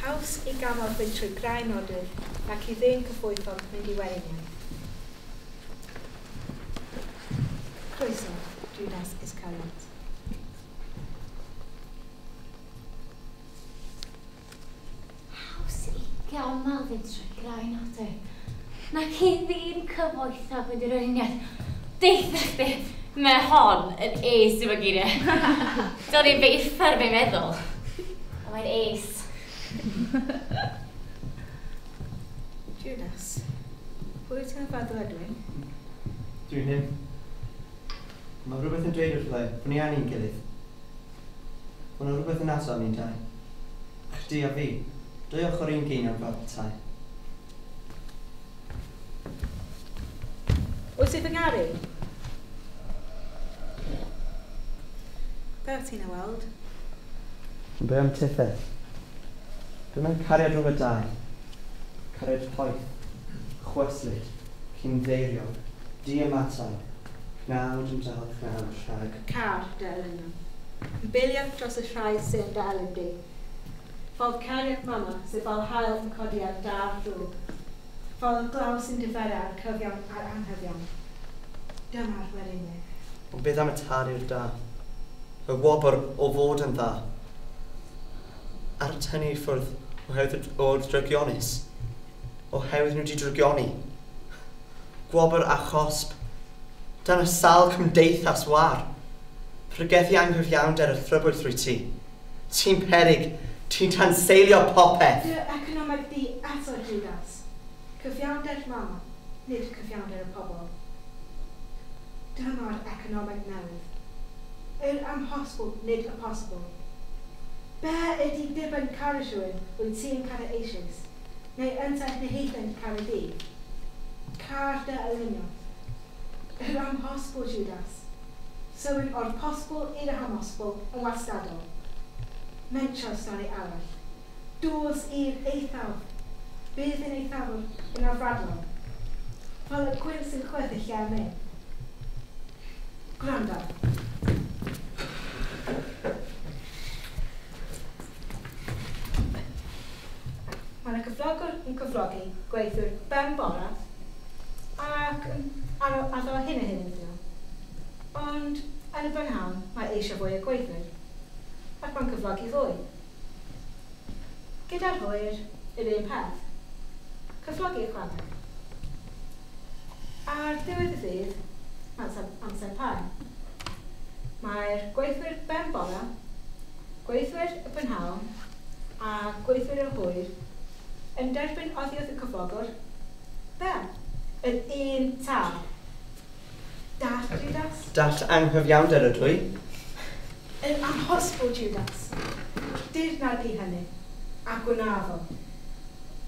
Haws i gamal fynd trwy grau nodydd ac i ddyn cyfoethog mynd i weriniaeth. Croeso, Judas Iscariot. Haws i gamal fynd trwy grau nodydd nac i ddyn cyfoethog mynd i weriniaeth. Deutha chdi, mae hon yn ace efo geiriau. Do'n i'n beiffar fe'n meddwl. Ond mae'n ace. Judas, pwy wyt ti'n feddwl ydw i? Dwi'n hyn. Mae rhywbeth yn dweud wrtho i bod ni angen gilydd. Mae yna rhywbeth yn ato ni'n dau. Chdi a fi, dwy ochr un geiniog fel petai. Wyt ti fy ngaru? Be wyt ti'n ei weld? Be am tithe? Be mae'n cariad rhwng y dau? Cariad poeth, chwyslyd, cynddeiriog, diamatai, cnawd yn dal cnawd rhag. Car dy elynion. Yn biliad dros y rhai sy'n dy elyn di. Fel cariad mama sydd fel haul yn codi ar dar drwg. Fel y glaw sy'n diferu ar cyfiawn a'r anghyfiawn. Dyma'r weriniaeth. Ond beth am y tad i'r da? Y wobr o fod yn dda. Ar tynnu i ffwrdd oherwydd o'r drygionus. Oherwydd nhw wedi drygioni. Gwobr a chosb. Dyna sawl cymdeithas war. Pregethu anghyfiawnder a thrybwyll drwy ti. Ti'n peryg, ti'n tanseilio popeth. Dy economeg di eto, Judas. Cyfiawnder mama, nid cyfiawnder y pobl. Dyma'r economeg newydd. Yr amhosibl, nid y posibl. Be ydy diben caru rhywun wyt ti'n caru eisoes, neu yntau neheitha'n caru di? Car dy elynion. Yr amhosibl, Judas. Sywyn o'r posibl i'r amhosibl yn wastadol. Mentro stori arall. Dos i'r eithaf. Bydd yn eithafwr yn afradlon. Fel y gwynt sy'n chwythu lle mynd. Gwrando. Mae yna cyflogwr yn cyflogi gweithiwr ben bora ac yn addo hyn a hyn iddyn nhw. Ond yn y prynhawn mae eisiau fwy o gweithwyr ac mae'n cyflogi fwy. Gyda'r hwyr, yr un peth. Cyflogi ychwaneg. Ar ddiwedd y dydd, amser pae. Mae'r gweithwyr ben bora, gweithwyr y prynhawn a gweithwyr y hwyr yn derbyn oddi wrth y cyflogwr, be? Yr un tâl. Dall, Judas? Dall anghyfiawnder ydw i. Yr amhosibl, Judas. Dirnad di hynny, a gwnafo.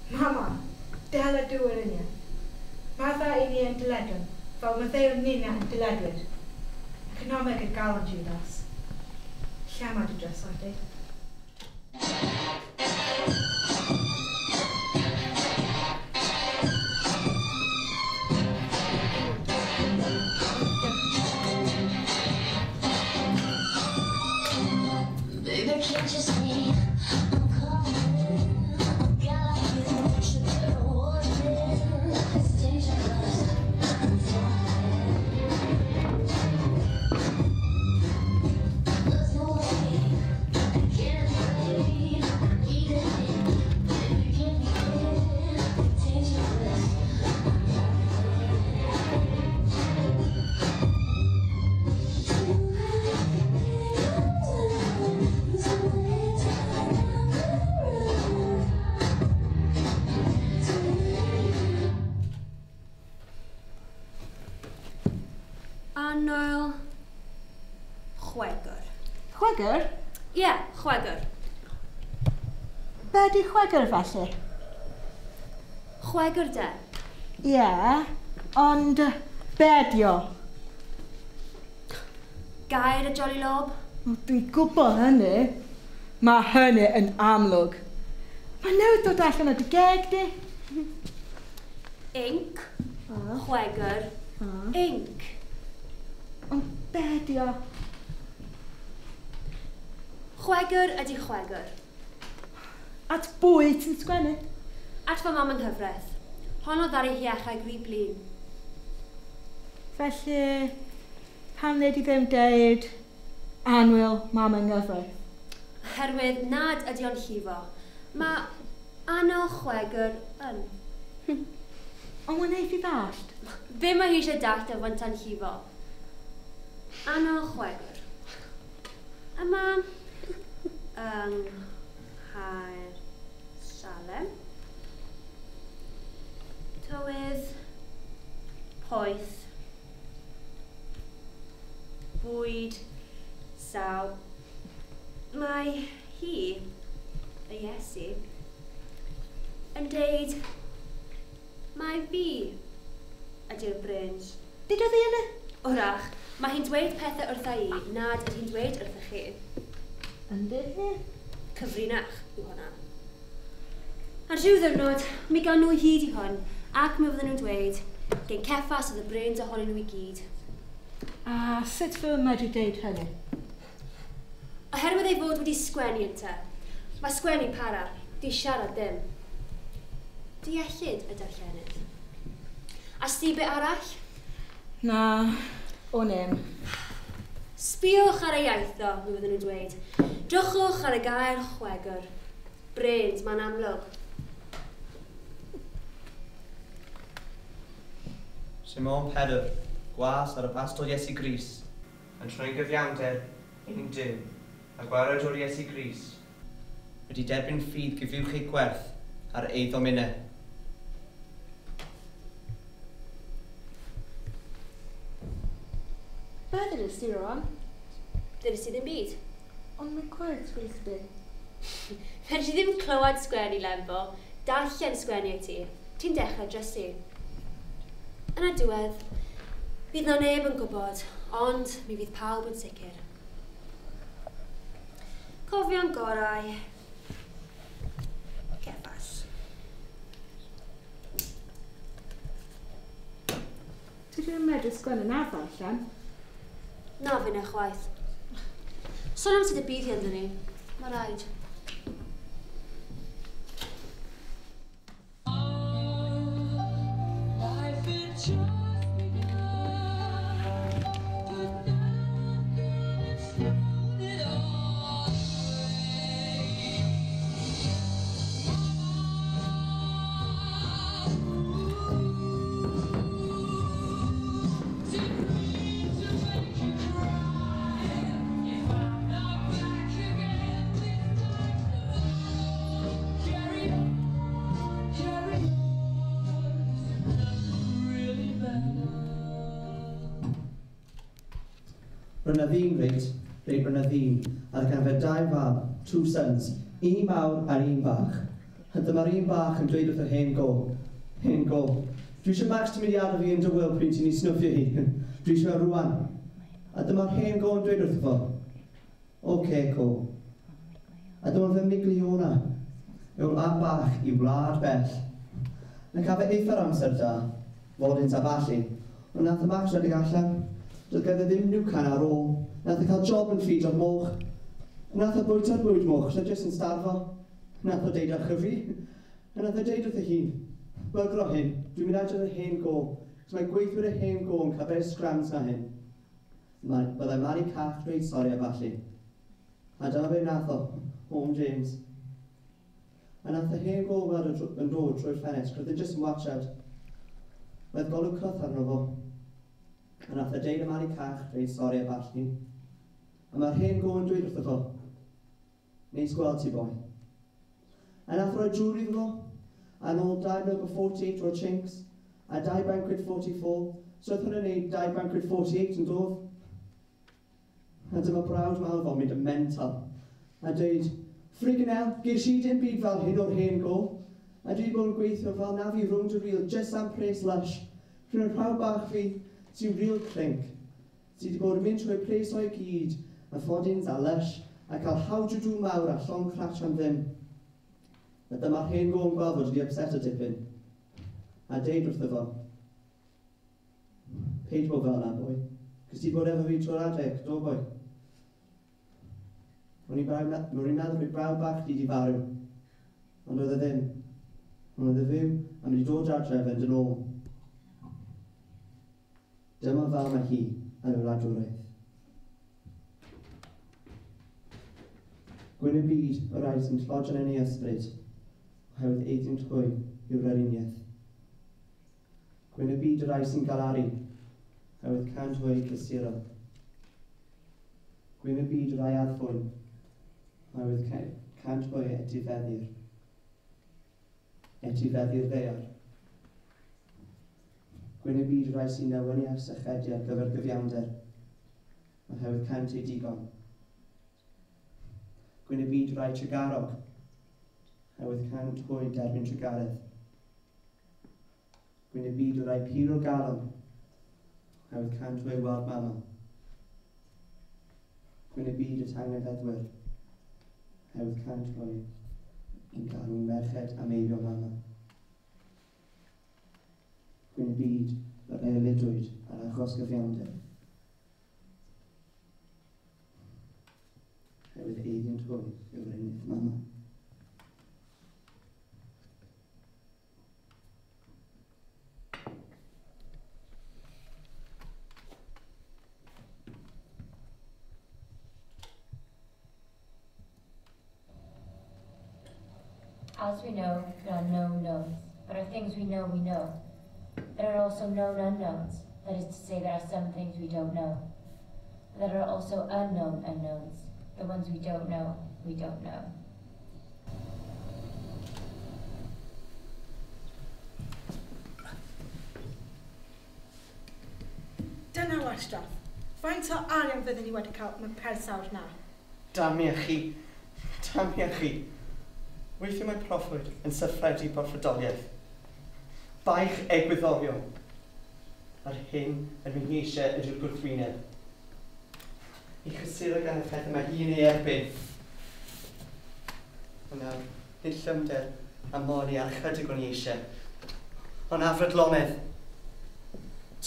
Mama, del y dŵr yn iawn. Madda i ni yn dyledwn, fel maddeuwn ninna yn dyledwyr. Economeg y galon, Judas. Lle mae dy drysor di? Baby, can't you see I'm calling? A guy like you should get a warning. It's dangerous. I'm falling. There's no way I can't breathe. Even if Annwyl chwegr. Chwegr? Ie, yeah, chwegr. Be di chwegr felly? Chwegr de. Ie, yeah, ond be di o? Gair y Jolly Lob. Dwi'n gwybod hynny. Mae hynny yn amlwg. Mae newydd dod allan o dy geg di. Inc. Chwegr. Inc. Ond be di o? Chwegr ydi chwegr. At bwy ti'n sgwennu? At fy mam yng nghyfraith. Hon oedd ar ei hiachau grib blin. Felly, pam wnei di ddim deud annwyl mam yng nghyfraith? Oherwydd nad ydi o'n llifo. Mae annwyl chwegr yn. Ond mae'n neith i ddallt. Be mae hi eisiau dallt o fynta'n llifo? Annwyl chwegr. Yma yng Nghaer Salem. Tywydd, poeth, bwyd, saw. Mae hi, y Iesu, yn deud, mae fi ydy'r brins. Dudodd hi hynny? Wrach, mae hi'n dweud pethau wrtha i nad ydy hi'n dweud wrthych chi. Yndi hi? Cyfrinach yw hwnna. Ar rhyw ddiwrnod, mi gawn nhw hyd i hwn, ac mi fydden nhw'n dweud, gen Ceffas oedd y brins ohonyn nhw i gyd. A sut fy medru deud hynny? Oherwydd ei fod wedi sgwennu ynte. Mae sgwennu para, di siarad ddim. Deallid y darllenydd. A sti be arall? Na, o'n i'm. Sbiwch ar ei iaith ddo, mi fydden nhw'n dweud. Drychwch ar y gair chwegr. Brains, mae'n amlwg. Simon Pedr, gwas ar y pastol Iesu Gris, yn troi gyfiawnder ein Duw, a gwared o'r Iesu Gris, wedi derbyn ffydd gyfywch ei gwerth ar eiddo minne. Be ddudest ti rwan? Ddudest ti ddim byd. Ond mae'n cwrdd sgwrs di. Fedri di ddim clywed sgwennu Lembo, darllen sgwennu i ti. Ti'n dechrau drysu. Yn y diwedd, fydd na neb yn gwybod, ond mi fydd pawb yn sicr. Cofio'n gorau. Ceffas. Ti ddim yn medru sgwennu na ddarllen? Na finne chwaith. Sôn am sut y bydd hi ynddyn ni. Mae rhaid. Life had just begun, but now I've gone and thrown it all away. Didn't mean to make you cry. If I'm not back again this time tomorrow, carry on, carry on. Nothing really matters. Roedd 'na ddyn reit, reit roedd 'na ddyn, a oedd ganddo fe dau fab, two sons, un mawr a'r un bach. A dyma'r un bach yn dweud wrth yr hen go, hen go, dwi eisiau Max ti'n mynd i adael fi yn dy wyl pryd ti'n ei snwffio hi, dwi eisiau rwan. A dyma'r hen go yn dweud wrtho fo, oce co. A dyma fe'n miglu o'na, yw'r mab bach i wlad bell. Na cael fe eitha'r amser da, fodins a ballu, ond nath y Max redeg allan. Doedd ganddo ddim nwcan ar ôl. Nath e cael job yn ffid o'r moch. Nath e bwyta'r bwyd moch, so jyst yn starfo. Nath o deud â fi. A nath e deud wrth ei hun, bygro hyn, dwi'n mynd adre yr hen go, cos mae gweithwyr y hen go yn cael better scrams na hyn. Byddai Mari Cach dweud sori a ballu. A dyma be nath o, Home James. A nath y hen go weld yn dod drwy'r ffenest, roedd e jyst yn watchad. Roedd golwg cyth arno fo. A nath e deud y Mari Cach dweud sori a ballu. A mae'r hen go yn dweud wrtho fo, neis gweld ti boi. A nath roi jwri iddo fo, a nôl 2 mlynedd o 48 o'r chinks, a 2 banquet 44, So oedd hwnna'n neud £2.48 yn dodd. A dyma brawd mawr fo'n mynd yn mental. A dweud, friggin' hell, ges i dim byd fel hyn o'r hen go. A dwi wedi bod yn gweithio fel nafi rownd y rîl just am pres lush. Rhywun rhaw bach fi sy'n real clink. Sy wedi bod yn mynd trwy pres o'i gyd, a ffodins a lush, a cael hawdrydw mawr a llong cratch am ddim. A dyma'r hen go yn gweld fod wedi upset o dipyn. A deud wrtho fo, paid bod fel yna, boi. Cos ti bod efo fi trwy'r adeg, do boi. O'n i'n meddwl bod brawd bach di farw. Ond oedd e ddim. Ond oedd e fyw a mynd i dod adref yn dyn ôl. Dyma fel mae hi yn y wladwriaeth. Gwyn y byd o rai sy'n tlodion yn ei ysbryd, oherwydd eiddynt hwy yw'r aruniaeth. Gwyn y byd o rai sy'n galaru, oherwydd cant hwy cysuro. Gwyn y byd o rai addfwyn, oherwydd cant hwy etifeddir. Etifeddir ddaear. Gwyn y byd o rai sy'n newynu ar sychedu ar gyfer gyfiawnder, oherwydd cant ei digon. Gwyn y byd o rai trugarog, oherwydd cant hwy derbyn trugaredd. Gwyn y byd o rai pur o'r galon, oherwydd cant hwy weld mama. Gwyn y byd y tangnefeddwyr, oherwydd cant hwy yn galw merched am eibio mama. Gwyn y byd yr erlidwyd ar achos gyfiawnder, oherwydd eiddynt hwy yw'r unig mama. As we know, there are known knowns. There are things we know we know. There are also known unknowns. That is to say, there are some things we don't know. There are also unknown unknowns. The ones we don't know, we don't know. Dyna wastraff. Faint o arian fyddwn ni wedi cael mewn persawr na? Damia chi. Damia chi. Weithiau mae proffwyd yn syffredu proffwydoliaeth. Baich egwyddorion. A'r hyn yn fy eisiau ydy'r gwrthwyneb. I chysuro gan y pethau mae hi'n ei erbyn. Ond nawr, nid llymder a moli ar chydig o'n i eisiau. Ond afrydlonedd.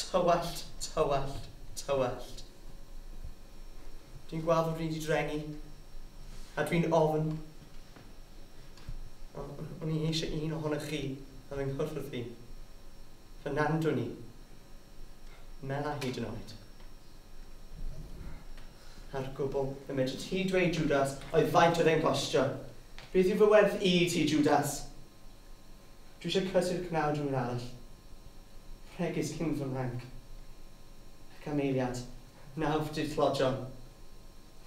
Tywallt, tywallt, tywallt. Dwi'n gweld fod fi wedi drengu, a dwi'n ofn. O'n i eisiau un ohonoch chi a fy nghwrdd fi. Fy nandwn i. Mela hyd yn oed. A'r gwbl y medr ti dweud, Judas, oedd faint oedd e'n costio. Beth yw fy werth i ti, Judas? Dwi eisiau cysu'r cnawd rhywun arall. Rhegys cyn fy mranc. Ac am eiliad, nawf di'r tlodion.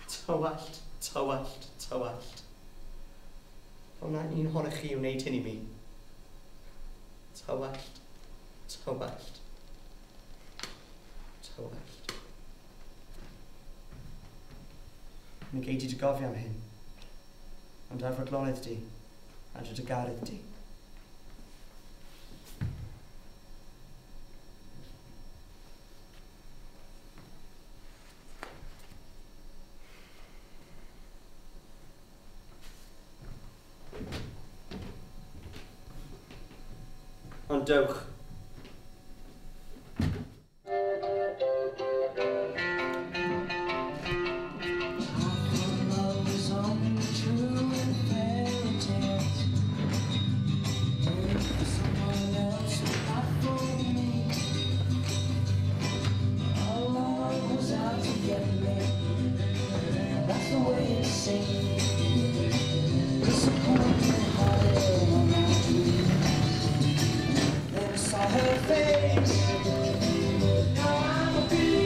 Tywallt, tywallt, tywallt. Ond na un ohonoch chi wneud hyn i mi. Tywallt, tywallt, tywallt. Mi gei di dy gofio am hyn, ond ar fodlonedd di, a dy dygaredd di. Ond dewch. I'm a believer.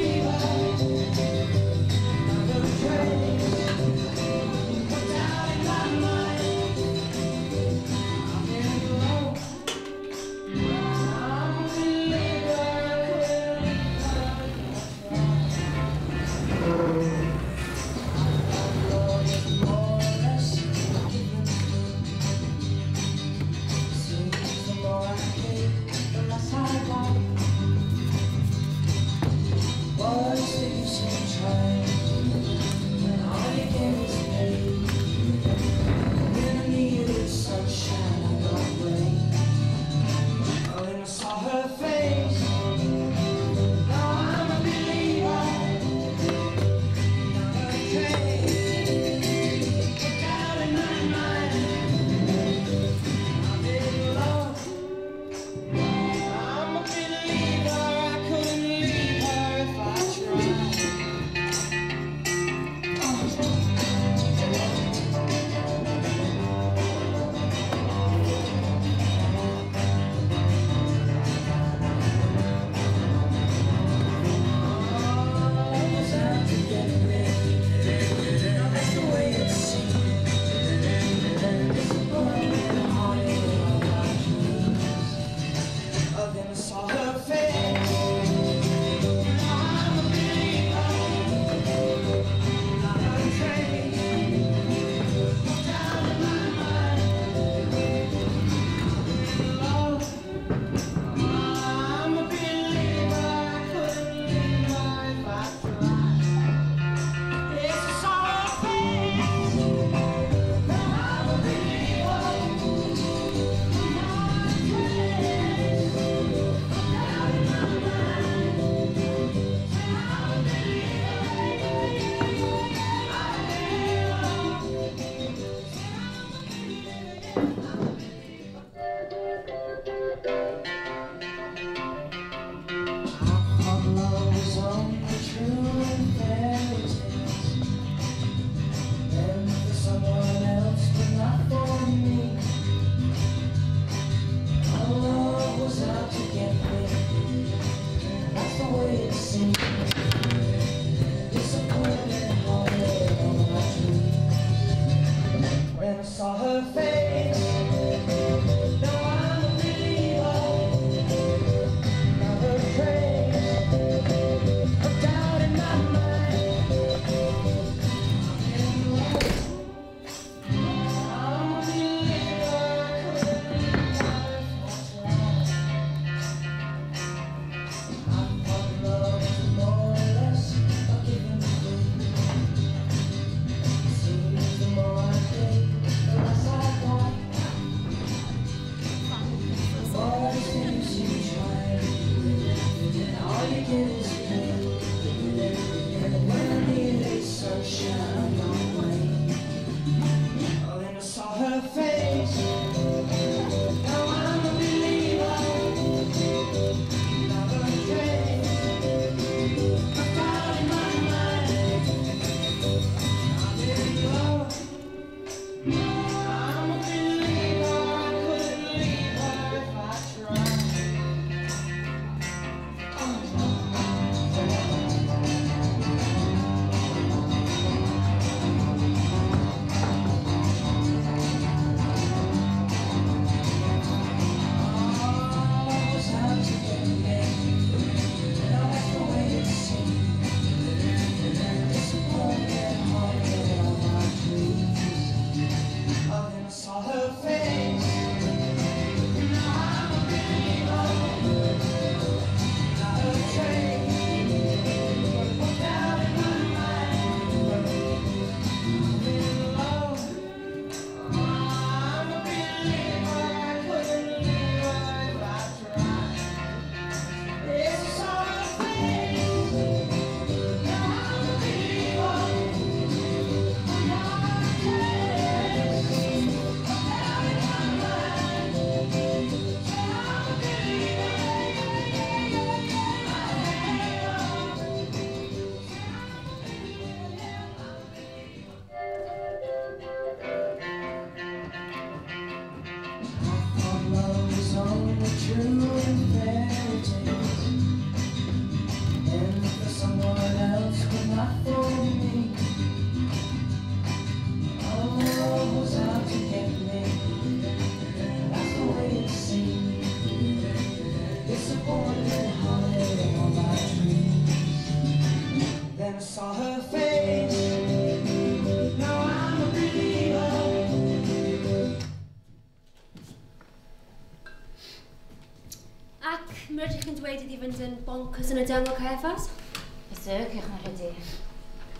Then I saw her face. Now I'm a believer, not a trace of doubt in my mind. Love, I'm a believer. I couldn't live life I tried. Yes, I saw her face. Now I'm a believer, not a trace of doubt in my mind. I'm a believer. I thought love was only true in fairy tales, meant for someone else, but not for me. My love was out to get me. That's the way it seemed. Disappointment haunted all my dreams. When I saw her face, now I'm a believer. Not a trace of doubt in my mind. I'm in love. I'm a believer. I couldn't live life I tried. I thought love was more or less a given thing. Seems the more I think, the less I got. The more things you try, and all you get is pain. And when I needed sunshine, not rain. Oh, then I saw her face. Now I'm a believer, not a trace of doubt in my mind. I'm in love. I'm a believer. I couldn't leave her if I tried. Love was out to get me. Now that's the way it seemed. Disappointment haunted all my dreams. Oh, then I saw her face. Now I'm a believer, not a trace of doubt in my mind. I'm in love. I'm a believer. I couldn't leave her if I tried. Yes, I saw her face. Now I'm a believer, not a trace of doubt in my mind. I'm a believer. I thought love was only true in fairy tales, meant for someone else, but not for me. My love was out to get me. That's the way it seemed. Disappointment haunted all my dreams. Then I saw her face. Now I'm a believer. Ac mi rydych chi'n dweud iddi fynd yn bonkers yn y deml Caiaffas? Berserk, eich rhydu.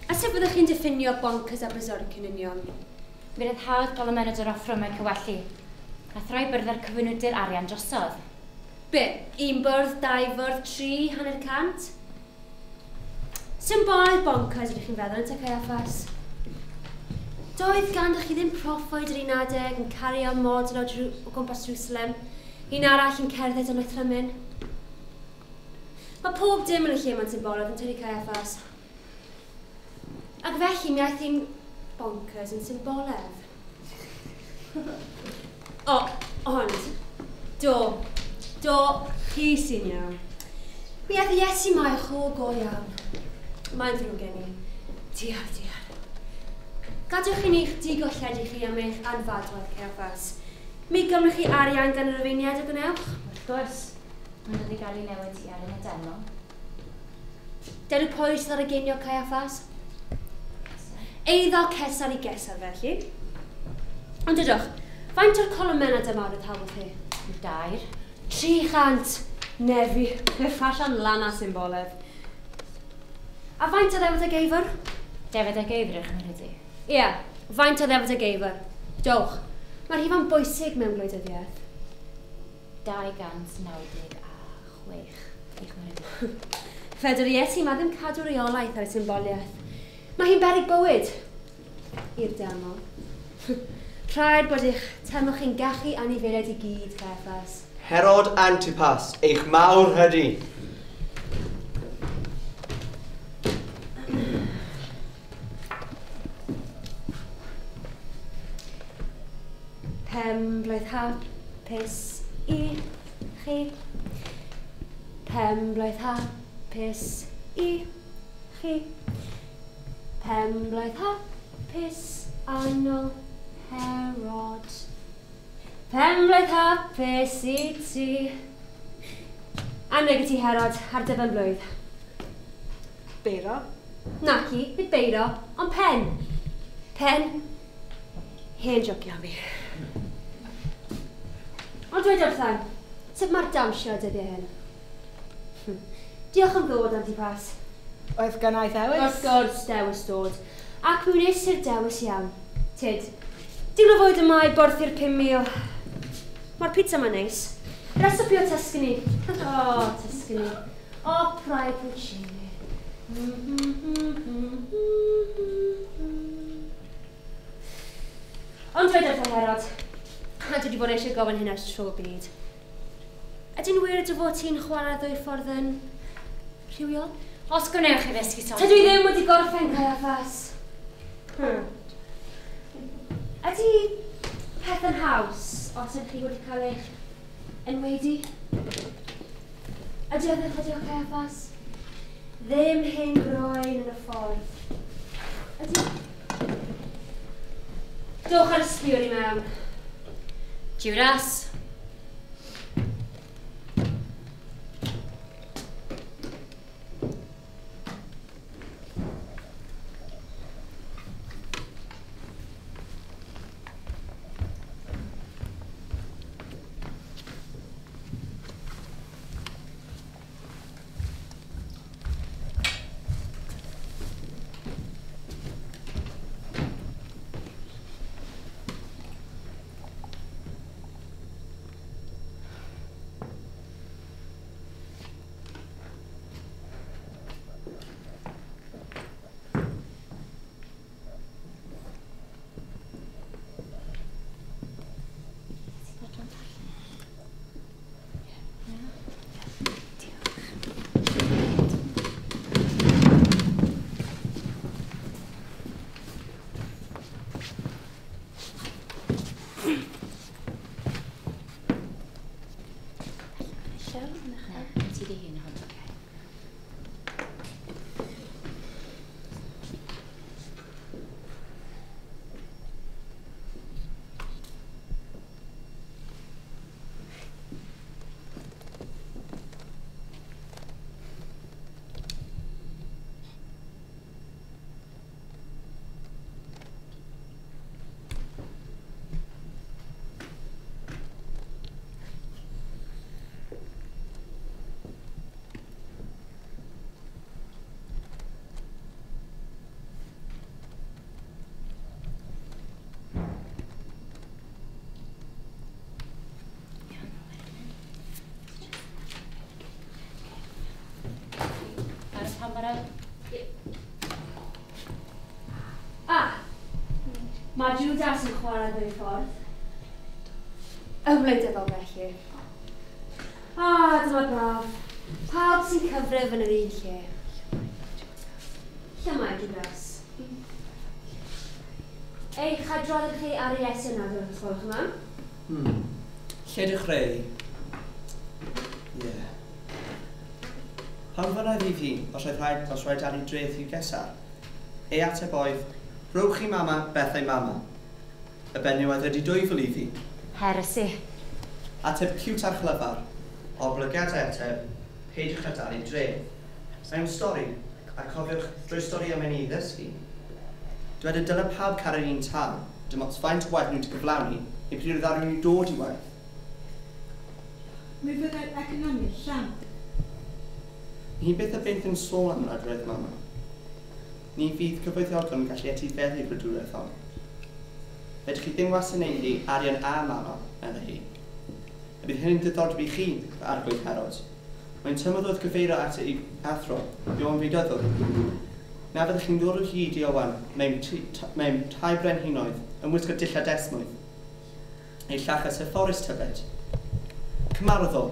A sut fyddwch chi'n diffinio bonkers a berserk yn union? Mi rydd hawdd golomennod yr offrymau cywellu, a throi byrddau'r cyfynwydyr arian drosodd. Be? Un bwrdd, dau fwrdd, tri, 150? Symbolaidd bonkers ydych chi'n feddwl yn te Caiaffas? Doedd ganddoch chi ddim proffwyd yr un adeg yn cario model o gwmpas Jerusalem, un arall yn cerdded yn Oethrymyn. Mae pob dim yn y lle ma'n symbolaidd yn tydi Caiaffas. Ac felly mi aeth hi'n bonkers yn symboledd. O, ond, do, chi sy'n iawn. Mi aeth Iesu mai cho go iawn. Mae'n ddrwg gen i. Diar, diar. Gadwch i ni'ch digolledu chi am eich anfadwaith, Caiaffas. Mi gymrwch chi arian gan yr Rufeiniaid y gwnewch? Wrth gwrs, Mae'n dod i gael ei newid i ar yn y deml. Dyn pwy sydd ar y genio Caiaffas? Eiddo Cesar i Gesar felly. Ond dydwch, faint o'r colomena dyma oedd hawodd hi? 2. 300. Nefi, y ffasiwn lana symboledd. A faint o ddefod y geifr? Defod y geifr ych chi'n rhydu? Ie, faint o ddefod y geifr. Dowch, mae'r rhifau'n bwysig mewn gwleidyddiaeth. 296 eich myrdu. Fedr Iesu, mae ddim cadw reolaeth ar y symboliaeth. Mae hi'n beryg bywyd i'r deml. Rhaid bod eich teml chi'n gallu anifeiliaid i gyd, Caiaffas. Herod Antipas, eich mawr hydi. Pem blwydd hapus i chi. Pem blwydd hapus i chi. Pem blwydd hapus annwyl Herod. Pem blwydd hapus i ti. Anrheg i ti Herod ar dy ben blwydd. Beiro? Naci, nid beiro, ond pen. Pen. Hen jocio am fi. Ond dweud wrtha, sut mae'r dawnsio dyddiau hyn? Diolch am ddod, Antipas. Oedd gynna i ddewis? Wrth gwrs, dewis dod. Ac mi wnes i'r dewis iawn. Tyd, digon o fwyd yma i borthi'r 5,000. Mae'r pizza yma'n neis. Recipe o Tuscany. O, Tuscany. Opera i Puccini. Ond dweud wrtha Herod, a dwi wedi bod eisiau gofyn hyn ers tro byd. Ydy'n wir dy fod ti'n chwarae ddwy ffordd yn rhywiol? Os gwnewch chi ddysgu sôn. Tydw i ddim wedi gorffen Caiaffas. Ydy peth yn haws os ydych chi wedi cael eich enwedu? Ydy oedd yn chydio Caiaffas? Ddim hen groen yn y ffordd. Ydy... Dowch ar y sbiwr i mewn. Judas. Mae Judas yn chwarae ddwy ffordd. Y wleidyddol felly. Dyma braf. Pawb sy'n cyfrif yn yr un lle. Lle mae Judas? Eich adrodd chi ar Iesu nawr, os gwelwch yn dda? Lle dechreu? Ie. Pan fynnai fi fi, os oedd rhaid, os rhaid dalu dreth i'w Gesar, ei ateb oedd, rhowch i mama bethau mama. Y benyw oedd wedi 2000 i fi. Heresy. Ateb cute a chlyfar. Oblygiad ateb, peidiwch â dalu dreth. Mewn stori, a cofiwch drwy stori am ei ddysgu. Dywed y dylai pawb cael yr un tâl, dim ots faint o waith nhw wedi cyflawni, neu pryd oedd nhw'n dod i waith. Mi fyddai'r economi'n llamp. Ni byth a byth yn sôn am wladwriaeth mama. Ni fydd cyfoethogion yn gallu etifeddu'r wladwriaeth hon. Fedrwch chi ddim wasanaethu arian a mama, meddai hi. A bydd hyn yn diddordeb i chi, fy arglwydd Herod. Mae'n tymor wrth gyfeirio at ei athro, Ioan Feudyddwr. Na fyddwch chi'n dod o hyd i Ioan mewn tai brenhinoedd yn wisgo dillad esmwyth. Ei llachas hyfforus tybed. Cymarodd o,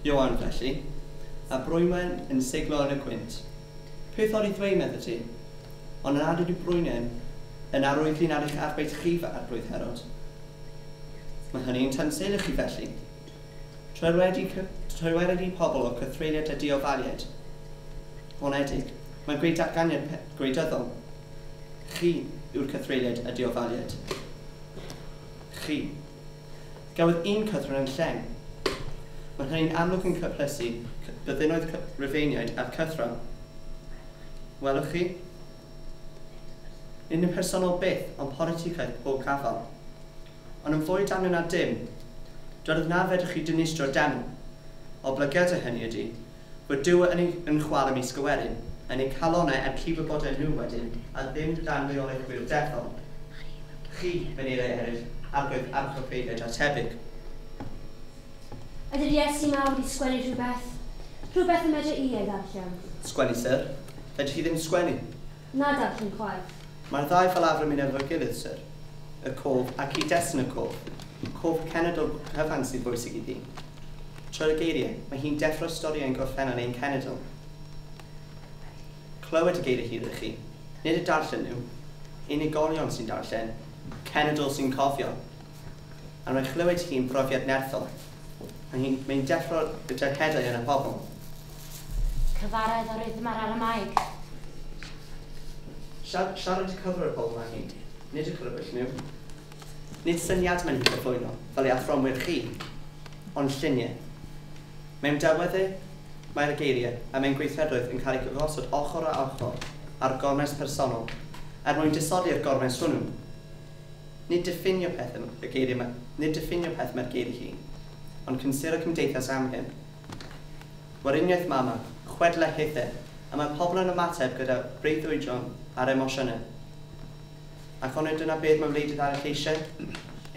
Ioan felly, a Brwynwen yn siglo yn y gwynt. Peth o'n i ddweud, medde ti? Ond yn nad yw Brwynwen yn arwyddlun ar eich arbeith chi fy arglwydd Herod. Mae hynny'n tanseilio chi felly. Trwy wedi pobl o cythreuliad a diofaliad. Honedig, mae'n gweud datganiad gwleidyddol. Chi yw'r cythreuliad a diofaliad. Chi. Gafodd un cythryn yn lleng. Mae hynny'n amlwg yn cyplysu byddinoedd Rufeiniaid a'r cythraul. Welwch chi? Nid yn personol byth, ond politicaeth pob gafal. Ond yn fwy damnio na dim, dwedodd na fedrwch chi dinistro deml. Oblygiadau hynny ydy, fod Duw yn yn chwarae ymysg y werin, yn eu calonnau er cydwybodau nhw wedyn, a ddim dan reolaeth gwir dethol. Chi, meneiriau eraill, arglwydd archoffeiriaid a tebyg. Ydy'r Iesu mawr wedi sgwennu rhywbeth? Rhywbeth y medra i ei ddarllen? Sgwennu, syr. Fedrwch chi ddim sgwennu. Na darllen chwaith. Mae'r ddau fel arfer yn mynd efo'i gilydd, syr. Y cof a cyd-destun y cof. Cof cenedl cyfan sydd bwysig iddi. Trwy'r geiriau, mae hi'n deffro storïau yn gorffennol ein cenedl. Clywed y geiriau hyd chi, nid y darllen nhw. Unigolion sy'n darllen, cenedl sy'n cofio. A mae chlywed hi'n brofiad nerthol. Mae'n deffro y dyheadau yn y pobl. Cyfaredd o rhythm ar Aramaeg. Siarad y cyfr y pobl mae hi, nid y clywed nhw. Nid syniad mae'n hi'n cyflwyno, fel ei athronwyr chi, ond lluniau. Mewn delweddau, mae'r geiriau a mewn gweithredoedd yn cael eu cyfosod ochr a ochr ar gormes personol, er mwyn disodli'r gormes hwnnw. Nid diffinio peth y geiriau, nid diffinio peth mae'r geiriau hi, ond cynsyro cymdeithas amgen. Weriniaeth mama, chwedlau hithau, a mae pobl yn ymateb gyda breuddwydion a'r emosiynau. Ac onid dyna beth mae wleidydd arall eisiau?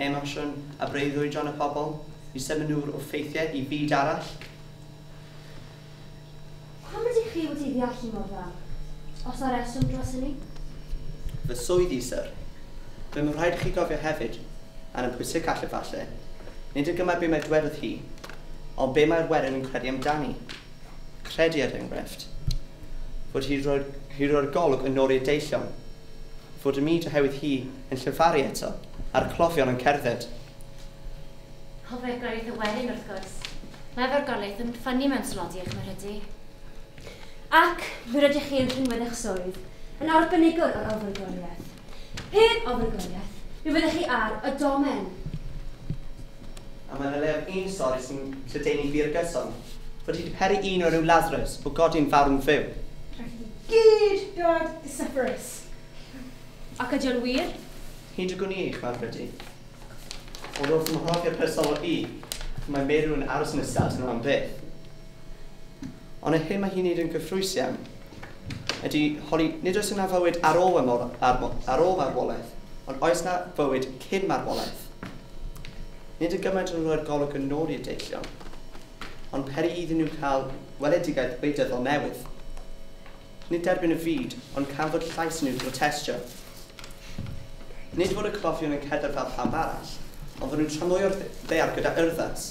Emosiwn a breuddwydion y pobl i symud nhw o ffeithiau i fyd arall? Pam ydych chi wedi ddeallu mor dda? Os na reswm dros hynny? Fy swydd i, syr. Fe mae'n rhaid i chi gofio hefyd, a'n yn pwysicach efallai, nid y gymaint be mae dwedodd hi, ond be mae'r werin yn credu amdani. Credu, er enghraifft, fod hi roi'r golwg yn ôl i'r deillion, fod y myd oherwydd hi yn llefaru eto, a'r clofion yn cerdded. Ofergoeliaeth y werin, wrth gwrs. Mae ofergoeliaeth yn ffynnu mewn slodi eich myrhydu. Ac fe rydych chi yn rhinwedd eich swydd, yn arbenigwr o'r ofergoeliaeth. Heb ofergoeliaeth, mi fyddech chi ar y domen. A mae'n leiaf un stori sy'n lledaenu fir gyson, fod hi wedi peri un o'r enw Lazarus o godi'n farw'n fyw. Rhaid i gyd dod i Sepphoris. Ac ydy o'n wir? Hyd y gwn i eich marfydu. Ond wrth ymhrofiad personol i, mae meirw yn aros yn y stad yno am byth. Ond y hyn mae hi'n neud yn gyffrous iawn ydy holi, nid oes yna fywyd ar ôl marwolaeth, ond oes yna fywyd cyn marwolaeth. Nid y gymaint yn rhoi'r golwg yn ôl i'r deillion, ond peri iddyn nhw cael weledigaeth wleidyddol newydd. Nid derbyn y fyd, ond canfod llais nhw protestio. Nid fod y clofion yn cerdded fel pawb arall, ond fod nhw'n tramwyo'r ddaear gyda urddas.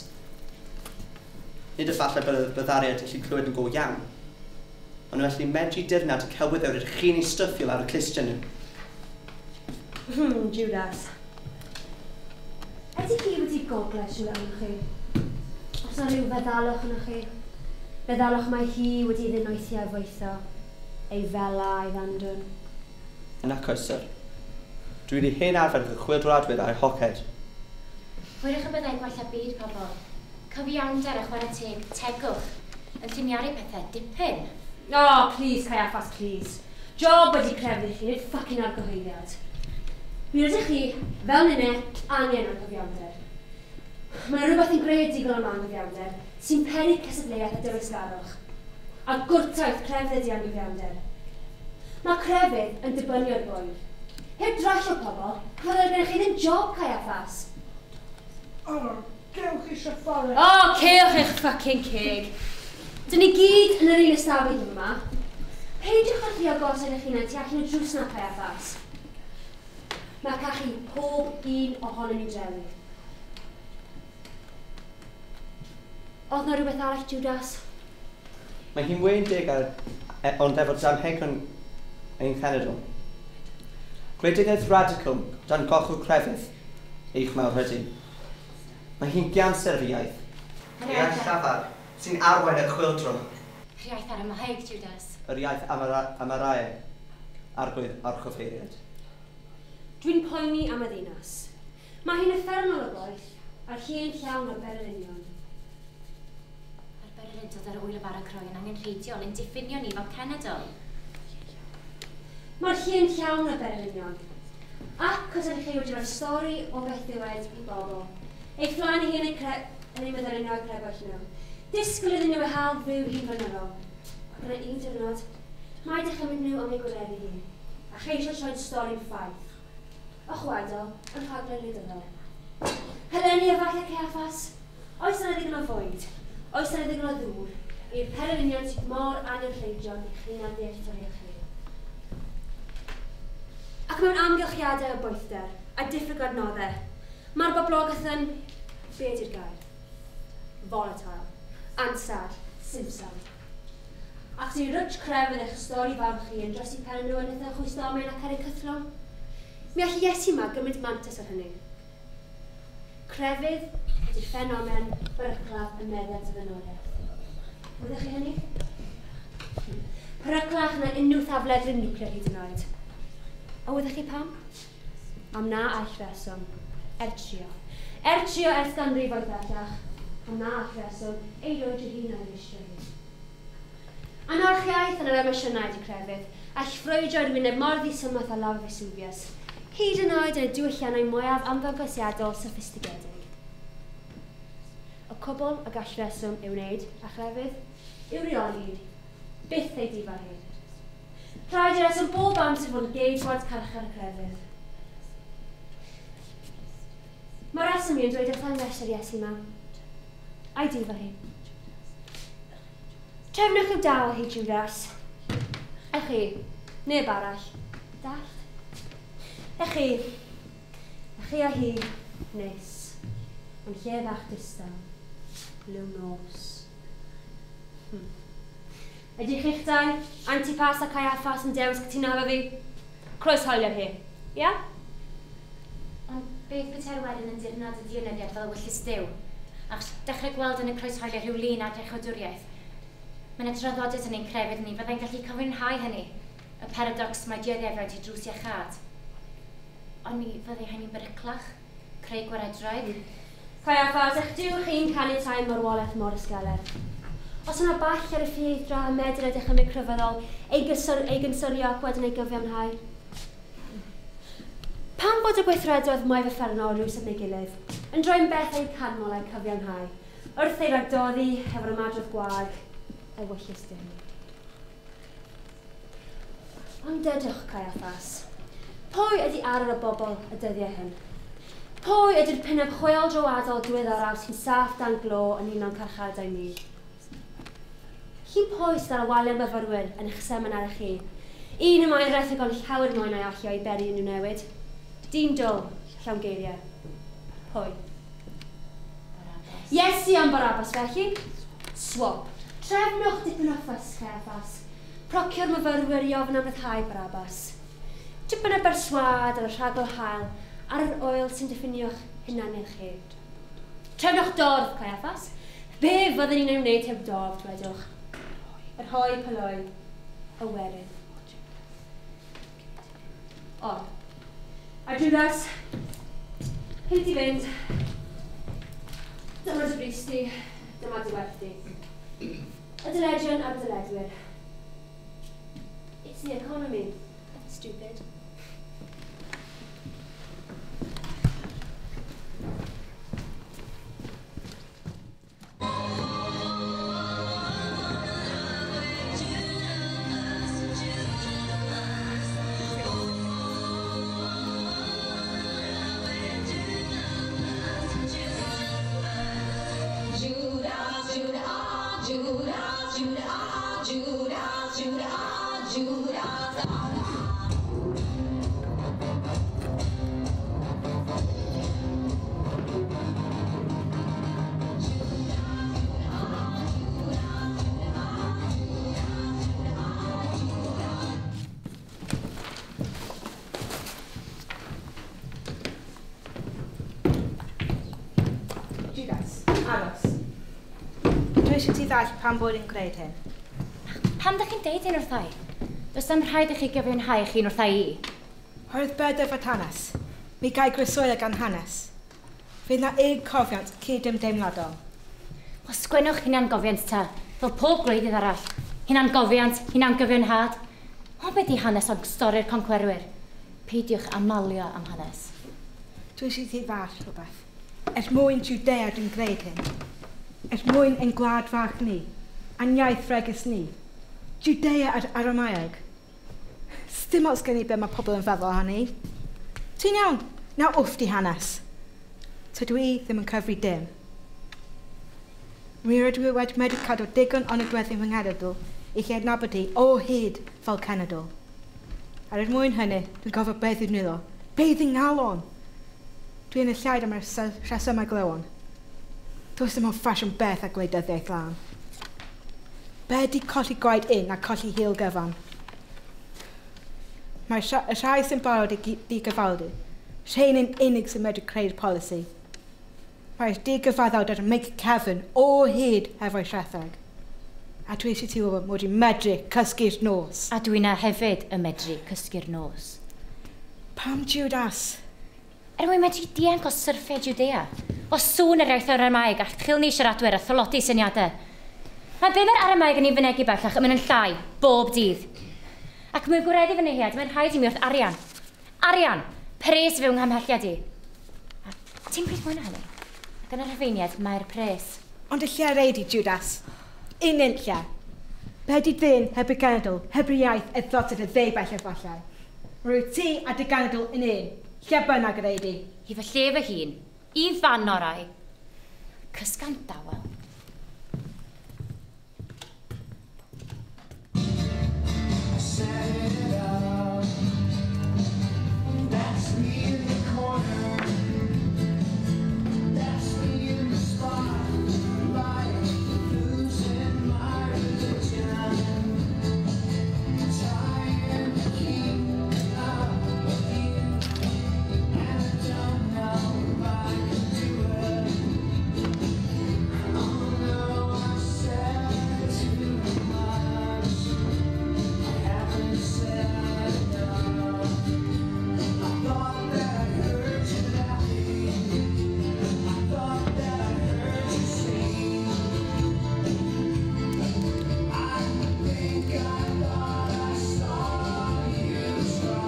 Nid efallai byddariad allu clywed yn go iawn, ond nhw allu medru dirnad y celwyddau rydych chi'n ei styffio ar y clustiau nhw. Judas. Ydy chi wedi gogled rhywle arnoch chi? Os na rhyw feddalwch arnoch chi? Feddalwch mae hi wedi ddinoethi a foetho, ei fela a'i ddandwn. Yn acos, syr. Dwi wedi hen arfer fy chwyldroadwyr a'i hoced. Hwyrach y byddai gwella byd pobl. Cyfiawnder a chwarae teg, tegwch, yn lliniaru pethau dipyn. Oh, please, Caiaffas, please. Job wedi crefydd i chi, nid fucking argyhoeddiad. Mi rydych chi, fel ninne, angen anghyfiawnder. Mae yna rhywbeth yn greadigol am anghyfiawnder sy'n peri cystadleuaeth a dyfeisgarwch. A gwrtaith crefydd ydi anghyfiawnder. Mae crefydd yn dibynnu ar bwyd. Heb drallio pobl, fyddai gennych chi ddim job, Caiaffas. O, gewch eisiau ffordd. O, cewch eich fucking ceg. Dyn ni gyd yn yr un ystafell yma. Peidiwch â thrio gosod eich hunain tu allan y drws na, Caiaffas. Mae cachu pob un ohonon ni'n drewi. Oedd na rhywbeth arall, Judas? Mae hi'n wên deg ar, ond efo damhegion ein cenedl. Gwleidyddiaeth radical dan gochw crefydd, eich mawrhydi. Mae hi'n ganser fy iaith. Yr Iaith llafar sy'n arwain y chwyldro. Yr iaith Aramaeg, Judas. Yr iaith Amaraeg, arglwydd archoffeiriad. Dwi'n poeni am y ddinas. Mae hi'n uffernol o boeth, a'r lle'n llawn o bererinion. Mae'r bererindod ar wyl y bara croen angenrheidiol yn diffinio ni fel cenedl. Mae'r lle'n llawn o bererinion. Ac os ydych chi wedi rhoi stori o beth ddiwedd i bobl, ei flaen ei hun yn ei meddylio nhw a crebwyll nhw. Disgwyl iddyn nhw eu hael fyw hi'n flynyddol. Ac yna un diwrnod, mae dychymyg nhw am ei gwireddu hi, a cheisio troi'n stori'n ffaith. O chwedl yn rhaglen wleidyddol. Heleni a falle Caiaffas, oes yna ddigon o fwyd, oes yna ddigon o ddŵr, i'r pererinion sydd mor angenrheidiol i'ch hunan ddealltwriaeth chi. Ac mewn amgylchiadau o boethder a diffyg adnoddau, mae'r boblogaeth yn, be ydi'r gair? Volatile, ansad, simsan. Ac sy'n rwtsh crefydd eich stori fawr chi yn dros i pen nhw yn eitha chwysdomen ac ar eu cythlwng. Mi all Iesu yma gymryd mantais ar hynny. Crefydd ydy'r ffenomen beryclaf y meddiant y ddynoliaeth. Wyddech chi hynny? Peryclach na unrhyw thafledryn niwclear hyd yn oed. A wyddech chi pam? Am na all reswm, er trio. Er trio ers ganrifoedd bellach, am na all reswm ei roed ei hun ar ei hi. Anarchiaeth yn yr emosiynau ydy crefydd, all ffrwydro i'r wyneb mor ddisymwth â lafar Vesuvius, hyd yn oed yn y diwylliannau mwyaf ymddangosiadol soffistigedig. Y cwbl y gall reswm ei wneud a chrefydd yw reoli, byth ei difa hi. Rhaid i reswm bob amser fod yn geidwad carchar y crefydd. Mae reswm i yn dweud wrth angles yr Iesu yma, a'i difa hi. Trefnwch i'w dal hi, Judas. Ech chi, neb arall. Dallt? Ech chi a hi, nes. Ond lle bach distaw, liw nos. Ydych chi'ch dau, Antipas a Caiaffas yn dewis cytuno efo fi? Croeshoelio hi, ia? Ond beth petai'r wedyn yn dirnad y dianyddiad fel ewyllys Duw? Achos dechrau gweld yn y croeshoelio rhyw lun ar iachawdwriaeth. Mae yna draddodiad yn ein crefydd ni fyddai'n gallu cyfiawnhau hynny. Y paradox mae dioddefaint i drws iachâd. Ond mi fyddai hynny'n beryclach, creu gwaredraig. Caiaffas, eich Duw chi'n caniatáu marwolaeth mor ysgeler. Os yna ball ar y ffieithdra a medr y dychymyg crefyddol, ei gynsyrio ac wedyn ei gyfiawnhau. Pam bod y gweithredoedd mwyaf uffernol rhywsut neu gilydd, yn droi'n beth eu canmol a'u cyfiawnhau, wrth ei ragdoddi hefo'r ymadrodd gwag, ewyllys Duw. Ond dydwch, Caiaffas, pwy ydy arwr y bobl y dyddiau hyn? Pwy ydy'r pinnau chwyldroadol diweddaraf sy'n saff dan glo yn un o'n carchardau ni? Chi'n pwy sydd ar y waliau myfyrwyr yn eich seminar chi? Un y mae'n rhetheg ond llawer mwy na'i allio i beri unrhyw newid. Dyn dwl, llawn geiriau. Pwy? Barabbas. Iesu am Barabbas felly. Swap. Trefnwch dipyn o ffys, Caiaffas. Procio'r myfyrwyr i ofyn am ryddhau Barabbas. Tipyn o berswâd ar y rhagol hael ar yr oel sy'n diffinio'ch hunaniaeth chi. Trefnwch dorf, Caiaffas. Be fyddwn ni'n ei wneud heb dorf, dwedwch? Yr hoi poloi, y werin. O. A Judas, hyd i fynd. Dyma dy bris di, dyma dy werth di. Y dyledion a'r dyledwyr. It's the economy, stupid. Judas, aros. Dwi eisiau ti ddall pam bod yn gwneud hyn. Pam dych chi'n deud hyn wrtha i? Does dim rhaid i chi gyfiawnhau eich hun wrtha i. Oherwydd bed efo hanes. Mi gai groeswylio gan hanes. Fydd na un cofiant cyd-ymdeimladol. Wel, sgwennwch hunan gofiant ta, fel pob gwleidydd arall. Hunan gofiant, hunan gyfiawnhad. Ond beth di hanes ond stori'r concwerwyr? Peidiwch â malio am hanes. Dwi eisiau ti ddall rhywbeth. Er mwyn Judea dwi'n gwneud hyn. Er mwyn ein gwlad fach ni, a'n iaith fregus ni. Judea a'r Aramaeg. Sdim ots gen i be mae pobl yn feddwl ohoni. Ti'n iawn, na wff di hanes. Tydw i ddim yn cyfri dim. Mi rydw i wedi medru cadw digon o nodweddion fy nghenedl i chi adnabod hi o hyd fel cenedl. Ar er mwyn hynny, dwi'n gofio beth yw'n nwylo. Beth yng ngalon? Dwi yn y llaid am y rhesymau glywon. Does dim ond ffasiwn beth a gwleidyddiaeth lân. Be di colli gwaed un a colli hil gyfan? Mae'r y rhai sy'n barod i digyfaldu, rhain yn unig sy'n medru creu'r polisi. Mae'r digyfaddawd ar y meic cefn o hyd hefo'i rhetheg. A dwi eisiau ti wybod mod i'n medru cysgu'r nos. A dwi'n hefyd yn medru cysgu'r nos. Pam Judas? Er mwyn medru dianc o syrffau Judea. O sŵn yr iaith Aramaeg a chilni siaradwyr a thlodi syniadau. Mae be mae'r Aramaeg yn ei fynegi bellach yn mynd yn llai, bob dydd. Ac mwyn gwireddu fy nyhead, mae'n rhaid i mi wrth arian. Arian! Pres fyw nghamhelliad i. A ti'n bryd mwy na hynny? Ac yn y Rhufeiniaid, mae'r pres. Ond y lle reid i, Judas. Un lle. Be di ddyn heb y genedl, heb y iaith y ddotod y ddeubell efallai. Rwy ti a dy genedl yn un, lle bynnag yr eidi. I fy lle fy hun, i fan orau. Cysga'n dawel. I set it up. That's me in the corner. That's me in the spotlight, losing my religion. Trying to keep up with you, and I don't know if I can do it. Oh no, I said too much. I haven't said enough. I thought that I heard you laughing. I thought that I heard you sing. I think I thought I saw you try.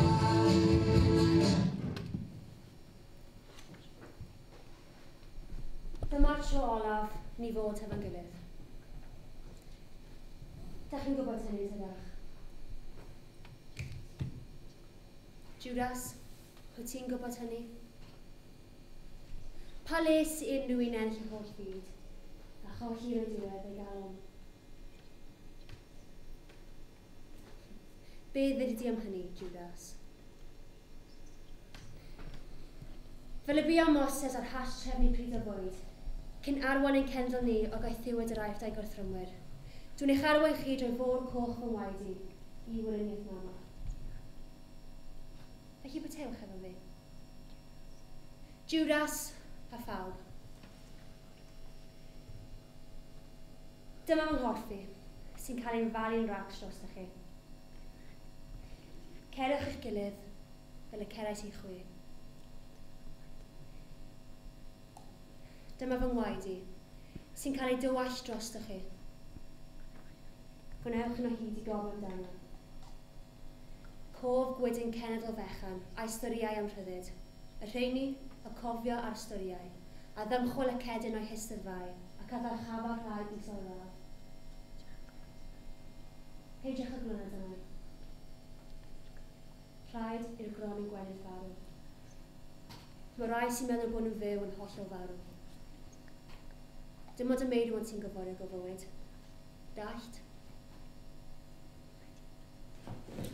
Dyma'r tro olaf ni fod hefo'n gilydd. Dach chi'n gwybod hynny, tydach? Judas, wyt ti'n gwybod hynny? Pa les i unrhyw un ennill y holl fyd, a cholli yn y diwedd ei galon? Be ddedi di am hynny, Judas? Fel y bu am Moses ar hash trefnu pryd o fwyd, cyn arwain ein cenedl ni o gaethiwed yr Aifft a'i gorthrymwyr. Dwi'n eich arwain chi drwy fôr coch fy ngwaed i, i weriniaeth mama. Felly bwytewch efo fi. Judas a phawb. Dyma fy nghorff i, sy'n cael ein falu'n racs drostoch chi. Cerwch eich gilydd fel y cerais i chwi. Dyma fy ngwaed i, sy'n cael ei dywallt drostoch chi. Gwnewch yn o hyd i gofio amdano. Cof gwydyn cenedl fechan a'i storïau am rhyddid. Y rheini, y cofio a'r storïau, a ddymchwel y cedyn o'i hystyddfau ac a ddyrchafodd rhai isel radd. Peidiwch â glynu arna i. Rhaid i'r gronyn gwenith farw. Mae rai sy'n meddwl bod nhw'n fyw yn hollol farw. Dim ond y meirwon sy'n gyforiog o fywyd. Dallt?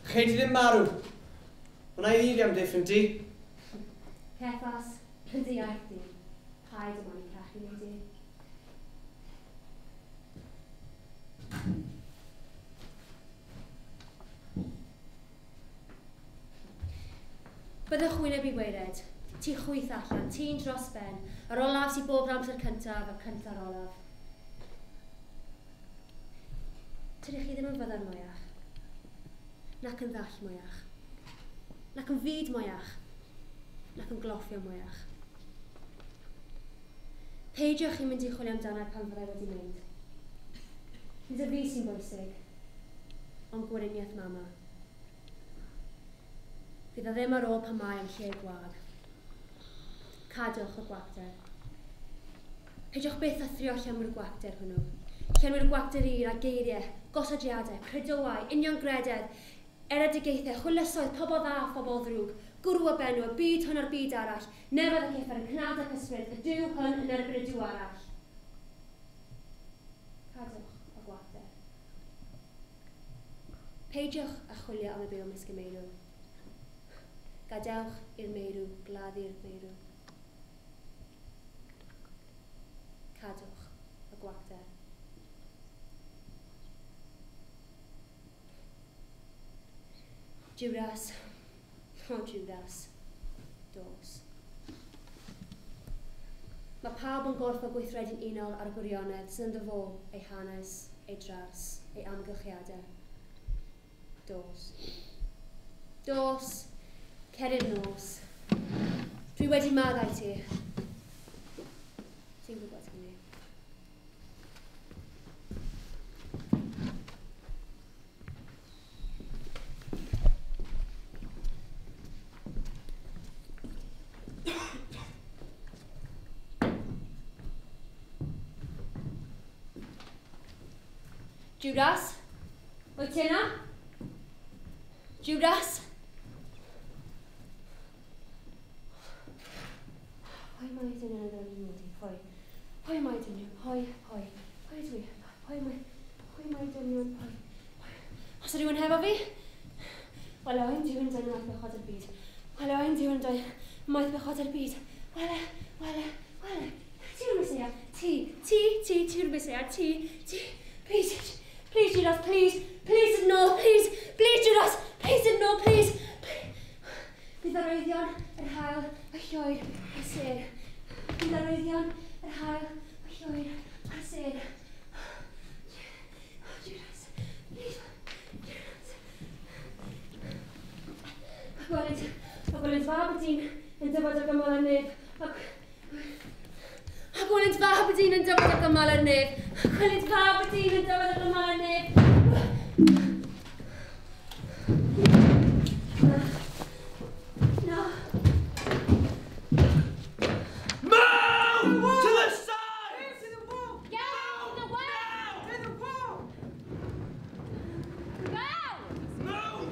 Chei di ddim marw. Wna i ddi amddiffyn di. Ceffas, yn dy iaith di. Paid yma ni cachu neu di. Byddwch wyneb i waered, ti chwyth allan, ti'n dros ben, yr olaf sy'n bob amser cyntaf, y cynta'r olaf. Tydych chi ddim yn fyddar mwyach, nac yn ddall mwyach, nac yn fyd mwyach, nac yn gloffio mwyach. Peidiwch chi'n mynd i chwilio amdano pan fyddai wedi mynd. Nid y fi sy'n bwysig, ond gweriniaeth mama. Fydd o ddim ar ôl pan mae yn lle gwag. Cadwch y gwacter. Peidiwch byth â thrio llenwi'r gwacter hwnnw. Llenwi'r gwacter un â geiriau, gosodiadau, credoau, uniongrededd, eredigaethau, chwylysoedd, pobl dda a phobl ddrwg, gwrw a benw, y byd hwn a'r byd arall, nefoedd ac uffern, y cnawd ac ysbryd, y duw hwn yn erbyn y duw arall. Cadwch y gwacter. Peidiwch â chwilio am y byw ymysg y meirw. Gadewch i'r meirw gladdu'r meirw. Cadwch y gwacter. Judas, o Judas, dos. Mae pawb yn gorfod gweithredu'n unol ar y gwirionedd sydd ynddo fo, ei hanes, ei dras, ei amgylchiadau. Dos. Dos, cer i'r nos. Dwi wedi maddau ti. Ti'n gwybod hynny. Judas, wyt ti yna? Judas? Pwy mae dyn nhw'n ddod i nodi? Pwy? Pwy mae dyn nhw? Pwy? Pwy? Pwy ydw i? Pwy mae? Pwy mae dyn nhw'n? Pwy? Os yw rhywun hefo fi? Wel, oen Duw yn dod maeth bechod yr byd. Wel, oen Duw yn dod maeth bechod yr byd. Wele, wele, wele. Ti yw'r Meseia. Ti, ti, ti, ti yw'r Meseia. Ti, ti. Please, please, Judas, please. Please, no, please. Please, Judas. Please, no, please. Bydd arwyddion, yr haul, y lloer, y sêr. Bydd arwyddion, yr haul, y lloer, a'r sêr. Judas, please, Judas. A gweled fab y dyn yn dyfod o gymal ar nef. A gweled fab y dyn yn dyfod o gymal ar nef. A gweled fab y dyn yn dyfod o gymal ar nef. Na. Move! To the side! To the wall! Get out of the way! To the wall! Go! Move!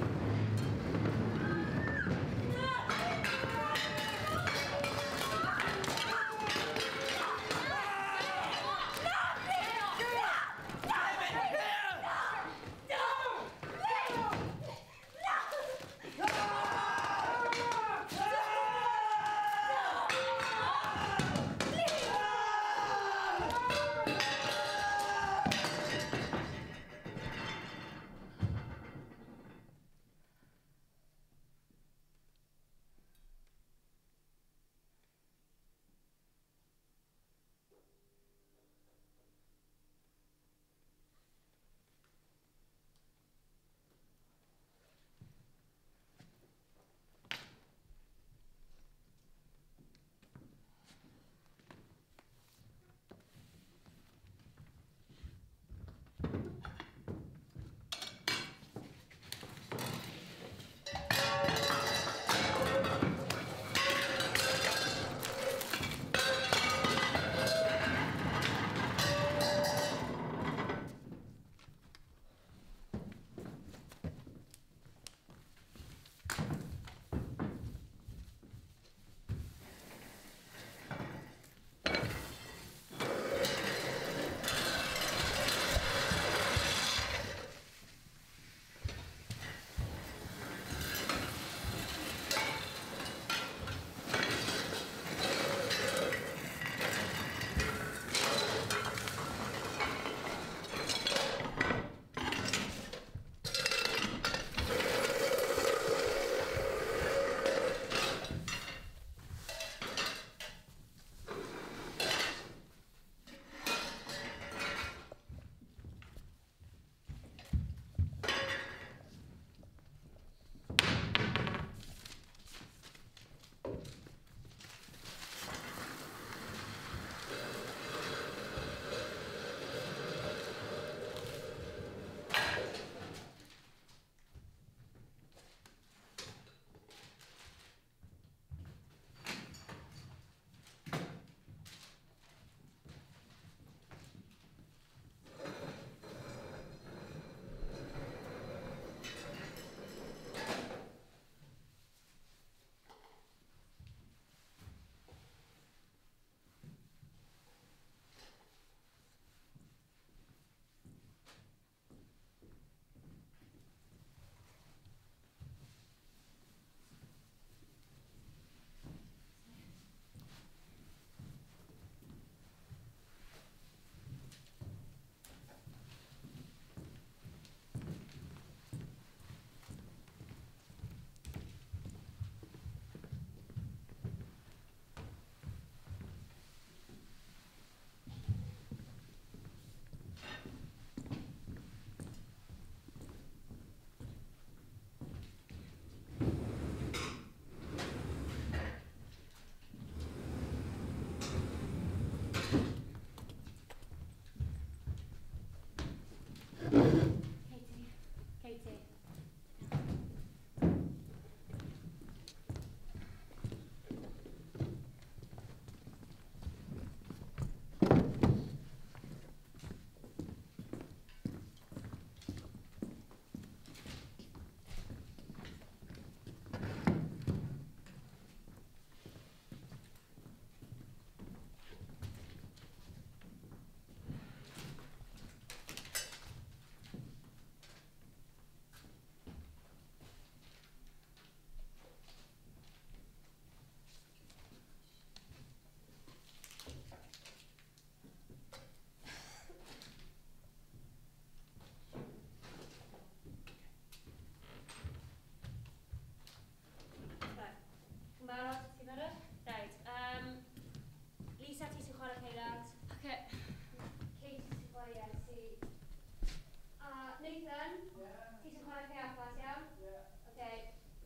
chwarae Caiaffas, iawn? Ie. Oce,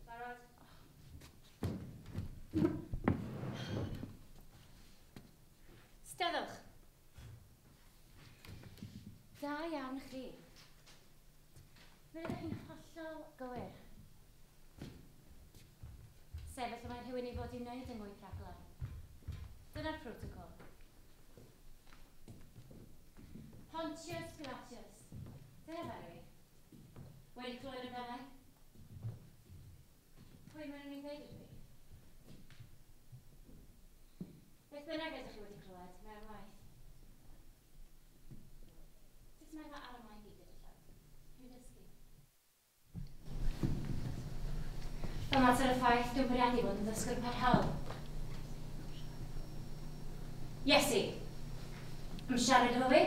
barod? Steddwch. Da iawn chi. Mi rydych chi'n hollol gywir. Sefyll y mae rhywun i fod i'w wneud yng ngwyth rhaglen. Dyna'r protocol. Pontius Pilatus. Dyna fe i. Wedi clywed amdano? Pwy maen nhw'n ei ddweud ydw i? Beth bynnag ydych chi wedi clywed, mae'n waith. Sut mae fy Aramaeg i gyda llaw? Dwi'n dysgu. Fel mater o ffaith, dwi'n bwriadu bod yn ddysgwr parhaol. Iesu, am siarad efo fi?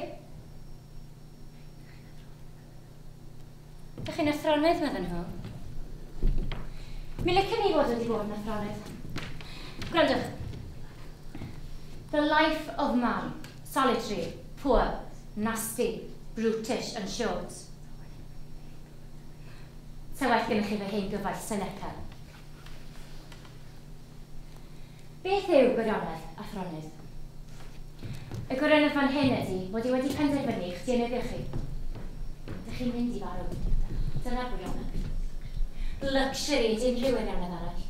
Dych chi'n athronydd, meddyn nhw. Mi licen i fod wedi bod yn athronydd. Gwrandwch. The life of man, solitary, poor, nasty, brutish and short. Sa well gennych chi fy hen gyfaill Seneca. Beth yw gwirionedd athronydd? Y gwirionedd fan hyn ydy bod i wedi penderfynu eich dienyddio chi. Dych chi'n mynd i farw. Dyna'r gwirionedd. Luxury ydy unrhyw wirionedd arall.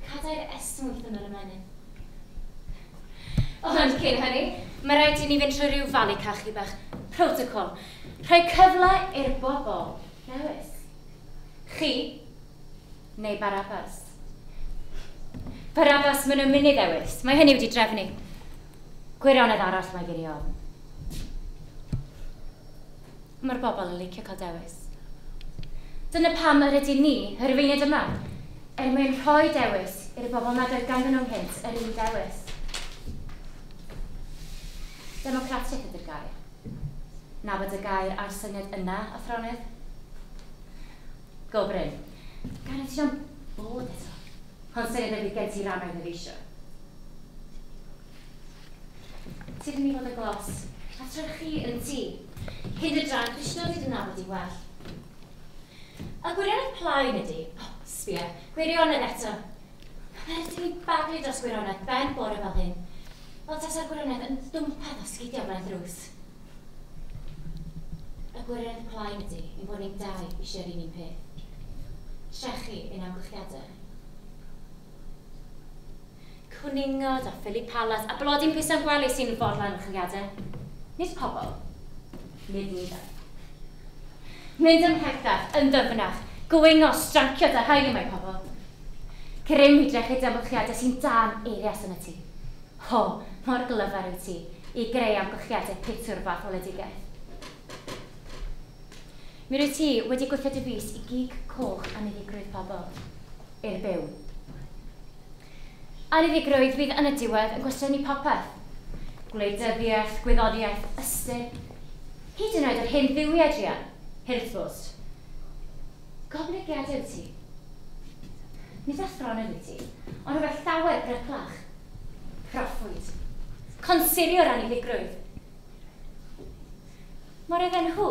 Cadair esmwyth yn yr ymennydd. Ond cyn hynny, mae rhaid i ni fynd trwy rhyw falu cachu bach. Protocol. Rhoi cyfle i'r bobl ddewis. Chi neu Barabbas. Barabbas, maen nhw'n mynd i ddewis. Mae hynny wedi drefnu. Gwirionedd arall mae gen i ofn. Mae'r bobl yn licio cael dewis. Dyna pam yr ydyn ni, yr Rufeiniaid yma, er mwyn rhoi dewis i'r bobl nad oedd ganddyn nhw ynghynt yr un dewis. Democratiaeth ydy'r gair. Nabod y gair a'r syniad yna, athronydd. Go Bryn. Gan y ti am bod eto. Ond syniad ydy gen ti rannau ddyfeisio. Ti ddim i fod yn glos. A tra chi yn ti. Hyn y dran, dwi eisiau dod i nabod i well. A gwirionedd plaen ydy, oh, sbia, gwirionedd eto. Mae rhaid i mi baglu dros gwirionedd ben bore fel hyn. Fel tasa'r gwirionedd yn dwmpath o sgidiau flaen drws. Y gwirionedd plaen ydy, ein bod ni'n dau eisiau'r un un peth. Trechu ein amgylchiadau. Cwningod a Philip Palas a blodyn pisan gwely sy'n fodlon amgylchiadau. Nid pobl, nid ni dau. Mynd ymhellach, yn ddyfnach, gwingo, strancio da haelu mae pobl. Grym i drechu amgylchiadau sy'n dan eirias yn y tŷ. Ho, mor glyfar yw ti i greu amgylchiadau pitw'r fath oledigaeth. Mi rwyt ti wedi gwythio dy fys i gig coch aniddigrwydd pobl, i'r byw. Aniddigrwydd fydd yn y diwedd yn gwestiynu popeth. Gwleidyddiaeth, gwyddoniaeth, ystyr. Hyd yn oed yr hen dduwiau druan, hirthbwst. Goblygiadau wyt ti. Nid athronydd wyt ti, ond rhywbeth llawer bryclach. Proffwyd. Consurio'r aniddigrwydd. Mor oedden nhw,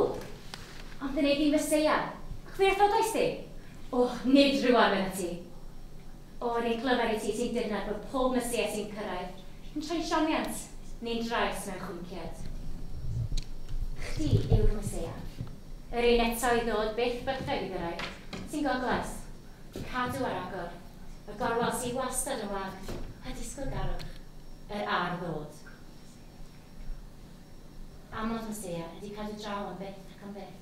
ond yn ei ddim Meseia. Ac fe wrthodais di? O, nid rhywun medda ti. O, yr un clyfar i ti sy'n dirnad bod pob Meseia sy'n cyrraedd yn troi sioniant neu'n drais mewn chwinciad. Chdi yw'r Meseia. Yr un eto i ddod byth bythau i gyrraedd, sy'n goglas, cadw ar agor, y gorwel sy'n wastad yn wag, a disgwyl garwch, yr ar ddod. Amod Meseia ydy cadw draw am byth ac am byth.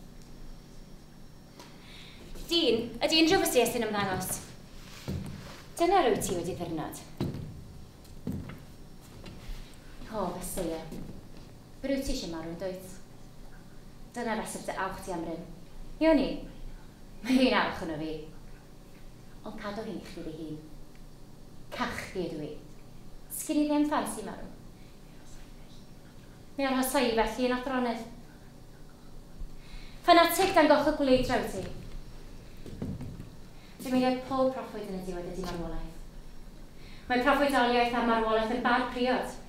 Dyn, ydy unrhyw Meseia sy'n ymddangos. Dyna rwyt ti wedi ddirnad. O, Meseia. Rwyt ti eisiau marw yn dwyt? Dyna reswm dy awch ti am ryn. Iawn i? Mae hi'n awch yno fi. Ond cadw hi'n i chdi dy hun. Cachu ydw i. Sgyn i ddim ffansi marw. Mi arhosai i felly yn athronydd. Ffanatig dan goch y gwleidra wyt ti. Dymuniad pob proffwyd yn y diwedd ydy marwolaeth. Mae proffwydoliaeth a marwolaeth yn bar priod.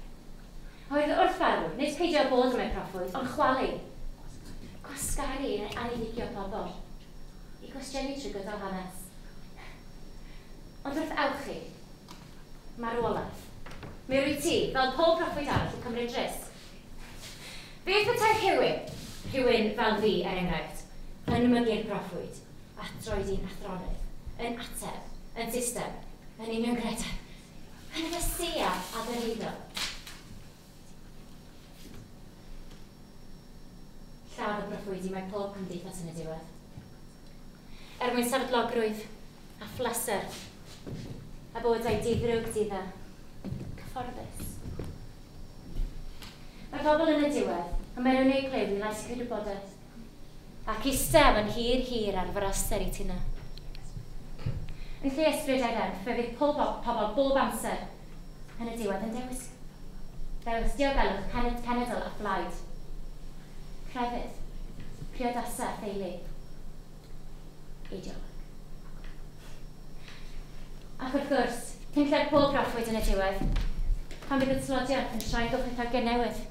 Oedd wrth farw, nid peidio â bod yn mae proffwyd, ond chwalu. Gwasgaru neu aniddigio pobl. I gwestiynu trwy gydol hanes. Ond wrth awchu, marwolaeth, mi rwy ti, fel pob proffwyd arall, yn cymryd risg. Beth petai rhywun fel fi, er enghraifft, yn mygu'r proffwyd, a droedi'n athronydd, yn ateb, yn system, yn uniongrededd, yn fesia a ddyrhaeddo. Lladd y proffwydi mae pob cymdeithas yn y diwedd. Er mwyn sefydlogrwydd a phleser, a bywydau diddrwg didda, cyfforddus. Mae pobl yn y diwedd, a mae nhw'n ei clefyd yn lais cydwybodaeth, ac eistedd yn hir hir ar fraster i tina. Yn lle ysbryd a'i reddf, fe fydd pob pobl bob amser yn y diwedd yn dewis. Dewis diogelwch cenedl a phlaid. Crefydd, priodasau a theulu. Eideoleg. Ac wrth gwrs, cyn lle'r pob proffwyd yn y diwedd, pan fydd y tlodiaeth yn troi gochethau newydd.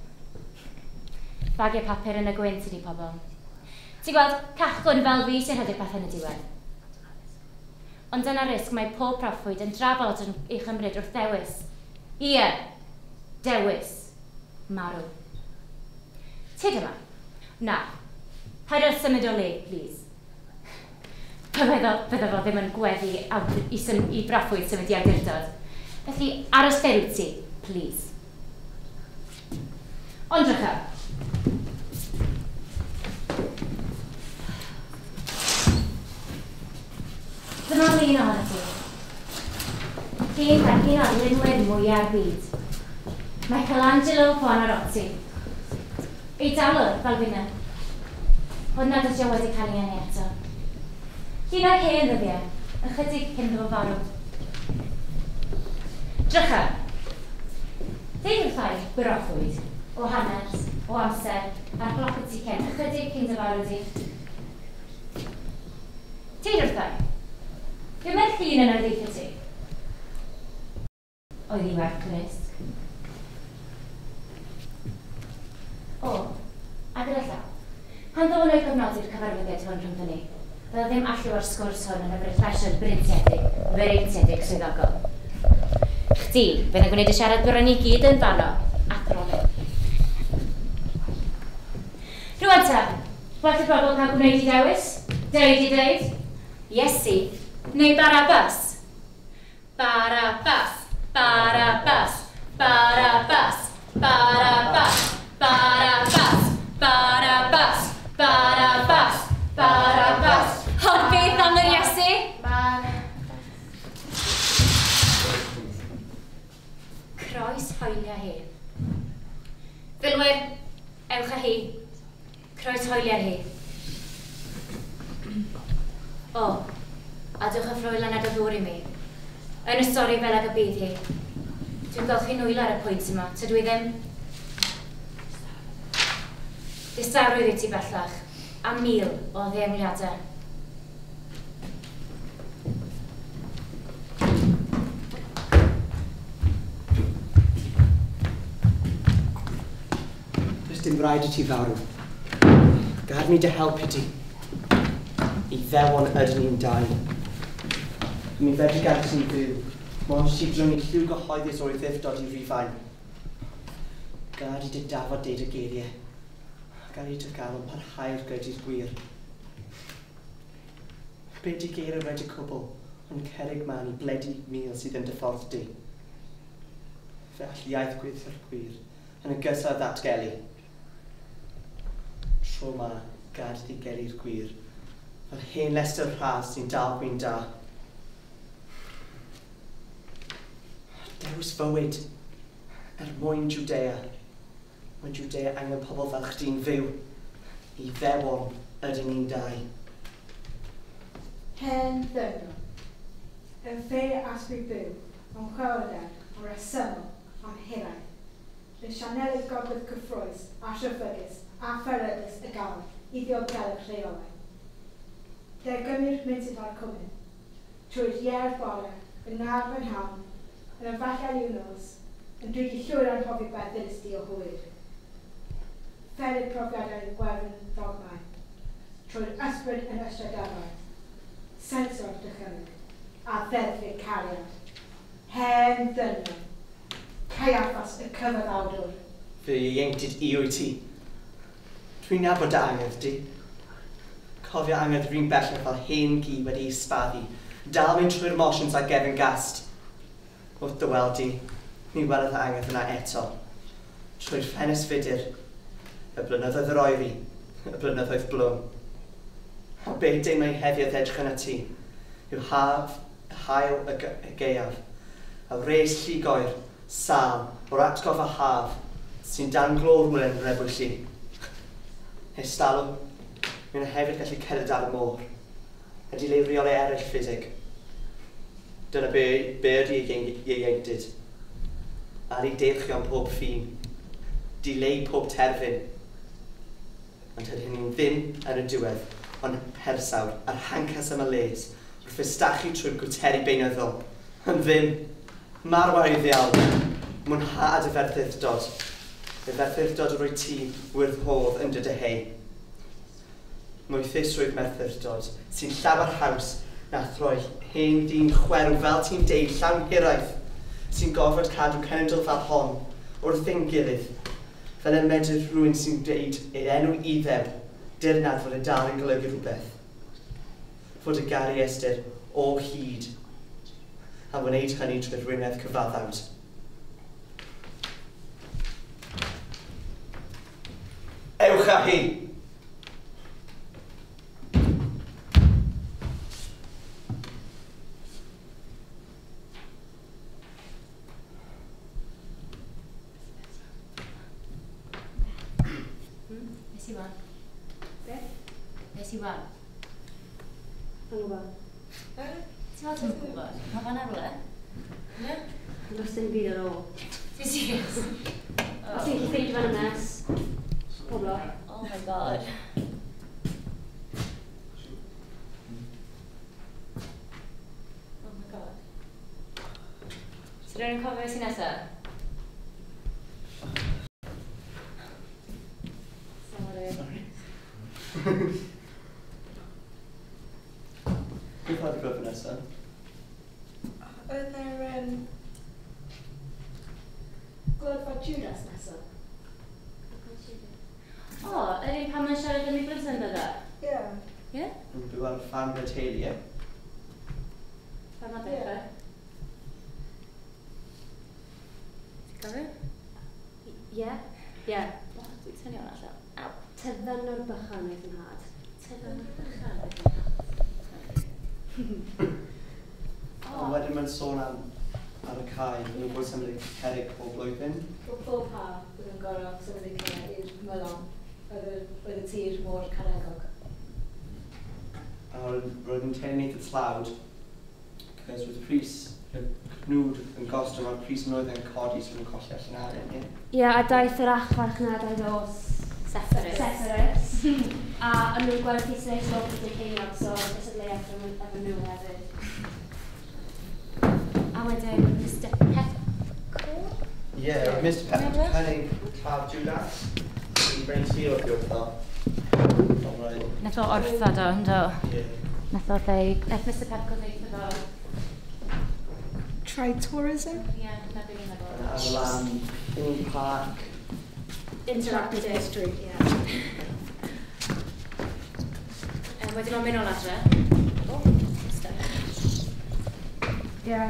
Bagiau papur yn y gwynt ydi pobl. Ti'n gweld, cachwn fel fi sy'n rhedeg pethau yn y diwedd. Ond dyna risg mae pob proffwyd yn drafod yn ei chymryd wrth ddewis. Ie, dewis, marw. Tyd yma. Na, paid â symud o le, please. Bydde fo ddim yn gweddu i broffwyd symud i awdurdod. Felly, aros lle wyt ti, please. Ond drycha. Dyma lun ohono ti. Llun gan un o'r lunwyr mwya'r byd. Michelangelo Buonarroti. Eidalwr fel finna. Ond nad ydy o wedi cael ei eni eto. Llun o'r hen ddyddiau, ychydig cyn iddo fo farw. Drycha. Deud wrtha i broffwyd o hanes, o amser, a'r gloc y tu cefn, ychydig cyn dy farw di. Deud wrtha i. Be mae'r llun yna ddeutha ti? Oedd hi werth risg. O, a gyda llaw. Pan ddod nhw i gofnodi'r cyfarfyddiad hwn rhwngddyn ni, bydda ddim allu o'r sgwrs hwn yn y refreshad breintiedig, freintiedig swyddogol. Chdi, fydd yn gwneud y siarad bron i gyd yn fanno, athronydd. Rwan ta, well y bobl cael gwneud i dewis, deud i ddeud, Iesu, neu Barabbas. Barabbas, Barabbas, Barabbas, Barabbas, Barabbas, Barabbas, Barabbas, Barabbas. Ond beth am yr Iesu? Croes hoelia hi. Filwyr, ewch â hi. Croes hoelia hi. O, a dewch â ffrwylan ag y ddŵr i mi. Yn y stori fel ag y bydd hi. Dwi'n golchi nwylo ar y pwynt yma, tydw i ddim. Distawrwydd i ti bellach, a 1000 o ddeongliadau. Does dim rhaid i ti farw. Gad mi dy helpu ti. I ddewon ydyn ni'n dau. Mi fedri gadw ti'n fyw, mond ti drwng i lliw gyhoeddus o'i ddiffdod i Rufain. Gad i dy dafod deud y geiriau. Gad i dy galon parhau'r gyda'r gwir. Be di geiriau wedi cwbl, ond cerrig man i bledu mil sydd yn dy ffordd di. Fe all iaith gweithio'r gwir, yn ogystal â ddatgelu. Tro ma, gad iddi gelu'r gwir, fel hen lestr rhas sy'n dal gwyn da. Dewis fywyd, er mwyn Jwdea. Mae Jwdea angen pobl fel chdi'n fyw. I ddewon ydyn ni'n dau. Hen ddynion, yn fe asbryd byw, am chwelder, am resymol, am hiraeth. Le sianelydd gogledd cyffrous a rhyfygus a pheryglus y galw i ddiogelu'ch rheolau. Dergymir mynted o'r cwmyn, trwy'r ieir bore, yn naf yn hawn, yn y fachau i'w nos, yn dwi wedi llwyr anghofio beth ddylys di o hwyr. Fferydd profiadau gwefn ddogmau, trwy'r ysbryd yn ystradebau, Sensor dychymyg, a ddeddfu cariad. Hen ddynion, Caiaffas y cyfaddawdwr. Fy ieuenctid i wyt ti. Dwi'n nabod dy angerdd di. Cofio angerdd rhywun bellach fel hen gi wedi'i sbaddu, dal mynd trwy'r motions a gefn gast. Wrth dy weld di, mi welodd y angerdd yna eto. Trwy'r ffenest fudr, y blynyddoedd yr oeri, y blynyddoedd blwm. A be deimlai heddiw wrth edrych arnat ti, yw haf, haul y gaeaf, a wres llugoer, sâl, o'r atgof a haf, sy'n dan glo rhywle yn Rebwylli. Ers talwm, mi yna hefyd gallu cerdded ar y môr, a dileu rheolau eraill ffiseg. Dyna be, be ydy ieuenctid. Ar ei deilchion pob ffin, dileu pob terfyn. Ond tydyn ni'n ddim yn y diwedd, ond persawr a'r hancas am y les, wrth fustachu trwy'r gwteri beunyddol. Yn ddim, marw ar ei ddiawl, mwynhad y ferthyrdod. Y ferthyrdod yr wyt ti wirfodd yn dy dyheu. Moethusrwydd merthyrdod, sy'n llawer haws na throi hen ddyn chwerw fel ti'n deud llawn hiraeth, sy'n gorfod cadw cenedl fel hon, wrth ein gilydd, fel y medr rhywun sy'n deud ei enw Iddew, dirnad fod y dal yn golygu rhywbeth. Fod y gair ei ystyr o hyd, a wneud hynny trwy rwynedd cyfaddawd. Ewch â hi! Nes i wan. Be? Nes i wan. Yn gwybod. Ti'n meddwl ti'n gwybod? Mae fan ar rhywle? Ie? Does dim byd ar ôl. Ti'n serious? Os ti'n gallu ffeindio fan y mess. Pob lwc. Oh my god. Oh my god. So rhywun yn cofio beth sy'n nesaf? Sorry. Sorry. Beth oedd y glwb nesaf? Oedd yr Gloddfa Judas nesaf? O, yr un pan mae'n siarad am ei blentyndod o? Ie. Ie? Yn byw ar ffarm gyda teulu, ie? Pan mae'n dechrau? Ti'n cofio? Ie. Ie. O, dwi'n tynnu hwnna allan. Aw. Tyddynwr bychan oedd yn nhad. Tyddynwr bychan oedd yn nhad. A wedyn mae'n sôn am ar y cae, maen nhw'n bod symud y cerrig pob blwyddyn. Pob haf, bydd yn gorfod symud y cae i'r ymylon. Oedd y tir mor caregog. A roedd yn teimlo eitha tlawd, cos roedd pris, y cnwd yn gostwng a'r pris yn oedd yn codi, so nhw'n colli allan arian, ie? Ie, a daeth yr archfarchnadau o Sepphoris. Sepphoris. A o'n nhw'n gwerthu six o beth yn ceiniog, so cystadleuaeth efo nhw hefyd. A wedyn Mr Pepco? Ie, yeah, Mr Pepco cynnig claf Judas. I brynu tir o'r wrtho. Nath o orffod o, ynddo? Ie. Nath o ddeud, nath Mr Pepco ddeud iddo fo. Try tourism? Ie, na beth i'n meddwl. Ar y lan, theme park. Interactive history. Ie. Wedyn mae'n mynd o adre. O, stuff. Ie,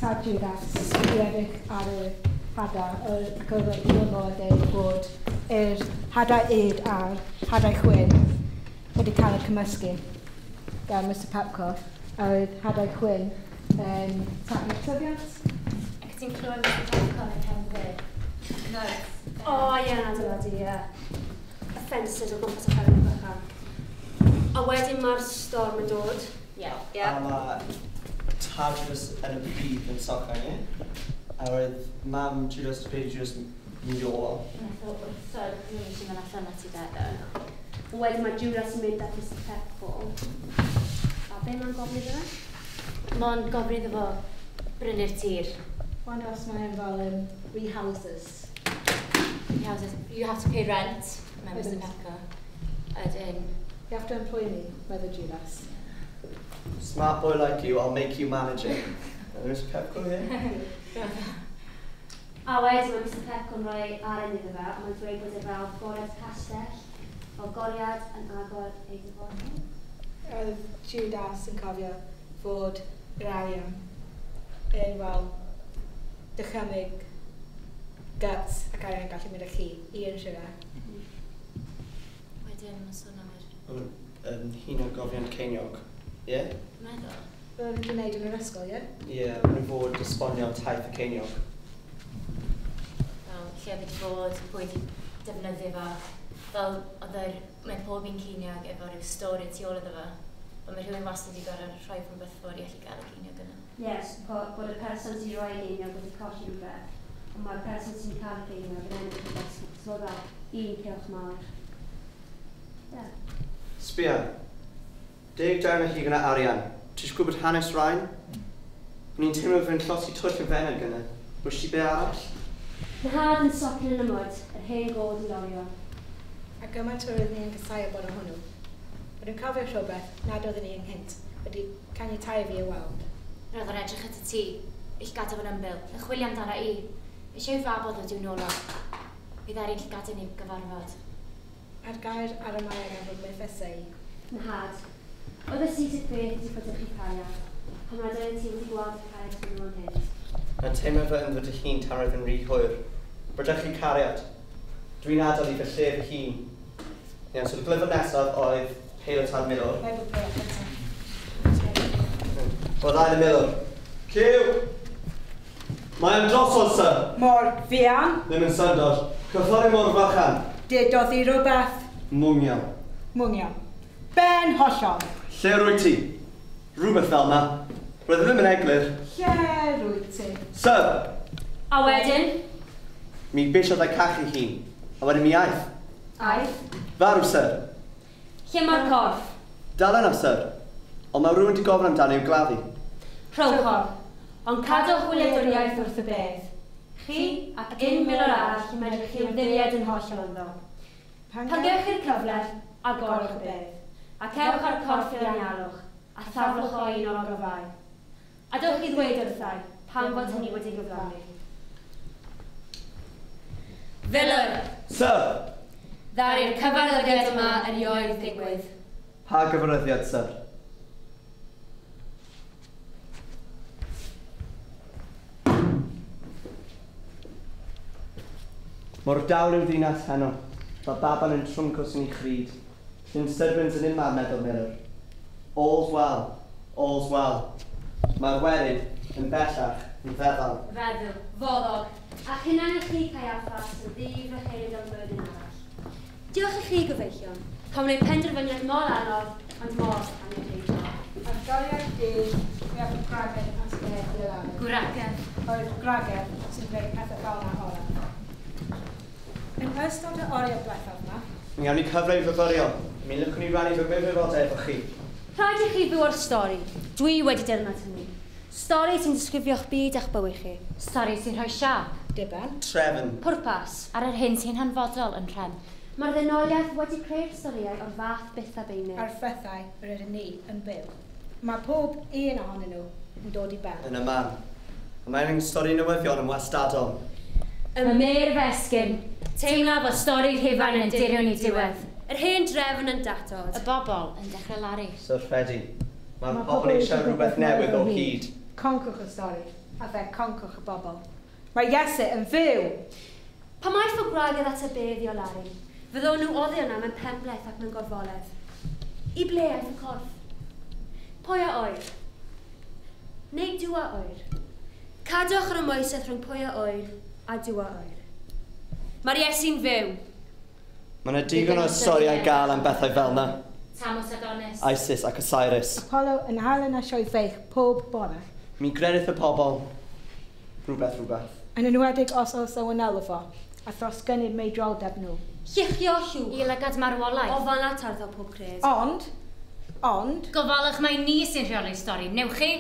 tad Judas i edrych ar y hadau, ac oedd o'n o dweud bod yr hadau yd a'r hadau chwyn wedi cael eu cymysgu gan Mr Pepco, a oedd hadau chwyn yn taflu tyfiant. Ac ti'n clywed Mr Pepco yn y cefndir. Nice. O, ie, na dyna di, ie. Y fences o gwmpas y fferm bychan. A wedyn mae'r storm yn dod. Ie. Ie. A mae tad Judas yn y pridd yn socian, ie? A roedd mam Judas a baby Judas yn mynd i ôl. Nath o wrthod nhw eisiau mynd allan at ei dad o. Wedyn mae Judas yn mynd at Mr Pepco. A be mae'n gofyn iddo fe? Mae'n gofyn iddo fo brynu'r tir. Wonder os mae'n fel rehouses. Rehouses. You have to pay rent, mae Mr Wedyn. Pepco. Ydyn. You have to employ me, meddwl Judas. Smart boy like you, I'll make you manage it. Mr Pepco here? A wedyn mae Mr Pepco'n rhoi aren iddo fe, a mae'n dweud bod e fel goriad castell, fel goriad yn agor ei dyfodol. Oedd Judas yn cofio fod yr arian yn, wel, dychymyg guts ac arian gallu mynd â chi i unrhyw le. Wedyn, mae'n sôn am yr... Hunan-gofiant ceiniog, ie? Yeah? Meddwl. Fel nhw'n gwneud yn yr ysgol, ie? Ie, yeah, maen nhw'n fod esbonio taith y ceiniog. Fel, lle oedd wedi bod, pwy wedi defnyddio fo. Fel, oedd yr, mae pob un ceiniog efo rhyw stori tu ôl iddo fo. Ond mae rhywun wastad wedi gorfod rhoi rhywbeth ffwrdd i allu gael y ceiniog yna. Yes, bod y person sy'n rhoi geiniog wedi colli rhywbeth, ond mae'r person sy'n cael y geiniog yn ennill rhywbeth, so fel un cylch mawr. Yeah. Sbia, 10 darn o hugen o arian. Ti eisiau gwybod hanes rhain? O'n i'n teimlo fe'n llosi twll yn fenyg gyda. Wys ti be arall? Nhad yn socian yn y mwd, yr hen god yn lorio. A gymaint yr oeddwn i'n casau bod o hwnnw. Ond dwi'n cofio rhywbeth nad oeddwn i ynghynt wedi caniatáu fi i weld. Roedd o'n edrych at y tŷ, i'ch gadael yn ymbil, yn chwilio amdano i. Eisiau i'w fab oedd i'w nôl o. Bydd ar ein llygad yn ei gyfarfod. A'r gair ar y maen am fod methesau i. Nhad, oedd y sisig beth wedi bod chi cariad, pan nad oedd ti wedi gweld y cariad hwnnw yn hyn. Mae'n teimlo fy ymddod dy hun tan roedd yn rhy hwyr. Rydych chi cariad. Dwi'n adael i fy lle fy hun. Iawn, so y glyfr nesaf oedd Peilot a'r Milwr. Mae bod peilot cyntaf. Oedd ail y milwr. Cyw! Mae'n drosodd, sir! Mor fuan. Ddim yn syndod. Cyffori mor fychan. Dedodd i rhywbeth. Mwnion. Mwnion. Ben hollol. Lle rwy ti? Rhywbeth fel na. Roedd ddim yn eglur. Lle rwy ti? Sir! A wedyn? Mi beisiodd ei cachu hun. A wedyn mi aeth. Aeth? Farw, sir. Lle mae'r corff? Dal yna, sir. Ond mae rhywun wedi gofyn amdano i'w gladdu. Rhowch o. Ond cadwch wyliadwriaeth wrth y bedd. Chi ac un milwr arall i medru chi ymddiried yn hollol ynddo. Pan gewch chi'r cyfle, agorwch y bedd. Ac ewch â'r corff i'r anialwch, a thaflwch o un o'r ogofau. A dewch i ddweud wrthai, pam fod hynny wedi gyflawni. Filwr! Sir! Ddaru'r cyfarwyddiad yma erioed ddigwydd. Pa gyfarwyddiad, sir? Mor dawel yw'r ddinas heno, fel baban yn trwmcws yn ei chryd. Llyn syrbyns yn unman, meddwl milwr. All's well, all's well. Mae'r werin yn bellach yn feddal. Feddwl, foddog, a hunan i chi Caiaffas yn ddi-frycheunig am flwyddyn arall. Diolch i chi, gyfeillion, pam wneud penderfyniad mor anodd, ond mor angenrheidiol. Ar goriad dydd, mi aeth y gwragedd at y bedd i olaru. Gwragedd? Oedd gwragedd sy'n gwneud pethau fel yna orau. Yn ystod y oriau diwethaf yma, Mi gawn ni cyfle i fyfyrio. Mi lwcwn ni rannu fy myfyrdodau efo chi. Rhaid i chi fyw o'r stori. Dwi wedi dirnad hynny. Stori sy'n disgrifio'ch byd a'ch bywyd chi. Stori sy'n rhoi siâp. Diben. Trefn. Pwrpas. Ar yr hyn sy'n hanfodol yn rhan. Mae'r ddynoliaeth wedi creu'r storïau o'r fath byth a beunydd. A'r phethau yr ydyn ni yn byw. Mae pob un ohonyn nhw yn dod i ben. Yn y man. A mae'n stori newyddion yn wastadol. Y mêr fesgyn. Teimla fod stori Rhufain yn dirion i diwedd. Yr hen drefn yn datod. Y bobl yn dechrau laru. Syrffedi. Mae'r pobl eisiau rhywbeth newydd o hyd. Concwch y stori, a fe concwch y bobl. Mae Iesu yn fyw! Pan aeth o gwragedd at y bedd i olaru, fyddwn nhw oddi yna mewn penbleth ac mewn gorfoledd. I ble aeth y corff? Pwy a oer? Neu Duw a oer? Cadwch yr ymwysedd rhwng pwy a oer a Duw a oer. Mae'r Iesu'n fyw. Mae yna digon o storïau gael am bethau fel yna. Tamos Adonis. Isis ac Osiris. Apollo yn halen a sioe feich pob bore. Mi gredith y pobl. Rhywbeth, rhywbeth. Yn enwedig os oes o wnelo fo, a thros gynnydd meidroldeb nhw. Lluchio llwch. I lygad marwolaeth. O fan atarddo pob cred. Ond. Gofalwch mai ni sy'n rheoli'r stori, newch chi?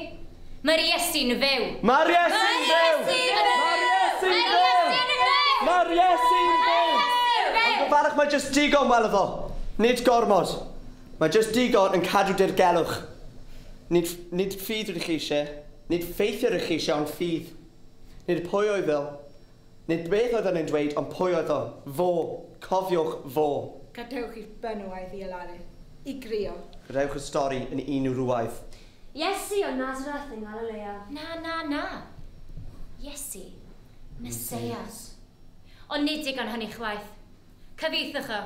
Mae'r Iesu'n fyw! Mae'r Iesu'n fyw! Mae'r Iesu'n fyw! Mae'r Iesu'n fyw! Ond gofalwch mae jyst digon wel iddo. Nid gormod. Mae jyst digon yn cadw dirgelwch. Nid ffydd rydych chi eisiau, nid ffeithiau rydych chi eisiau, ond ffydd. Nid pwy oedd o, nid beth oedd o'n dweud, ond pwy oedd o. Fo. Cofiwch fo. Gadewch i'r benywaidd i alaru, i grio. Gadewch y stori yn un wrywaidd. Iesu o Nazareth yng Nghalilea. Na, na, na. Iesu, Messias. Ond nid digon hynny chwaith. Cyfieithwch o.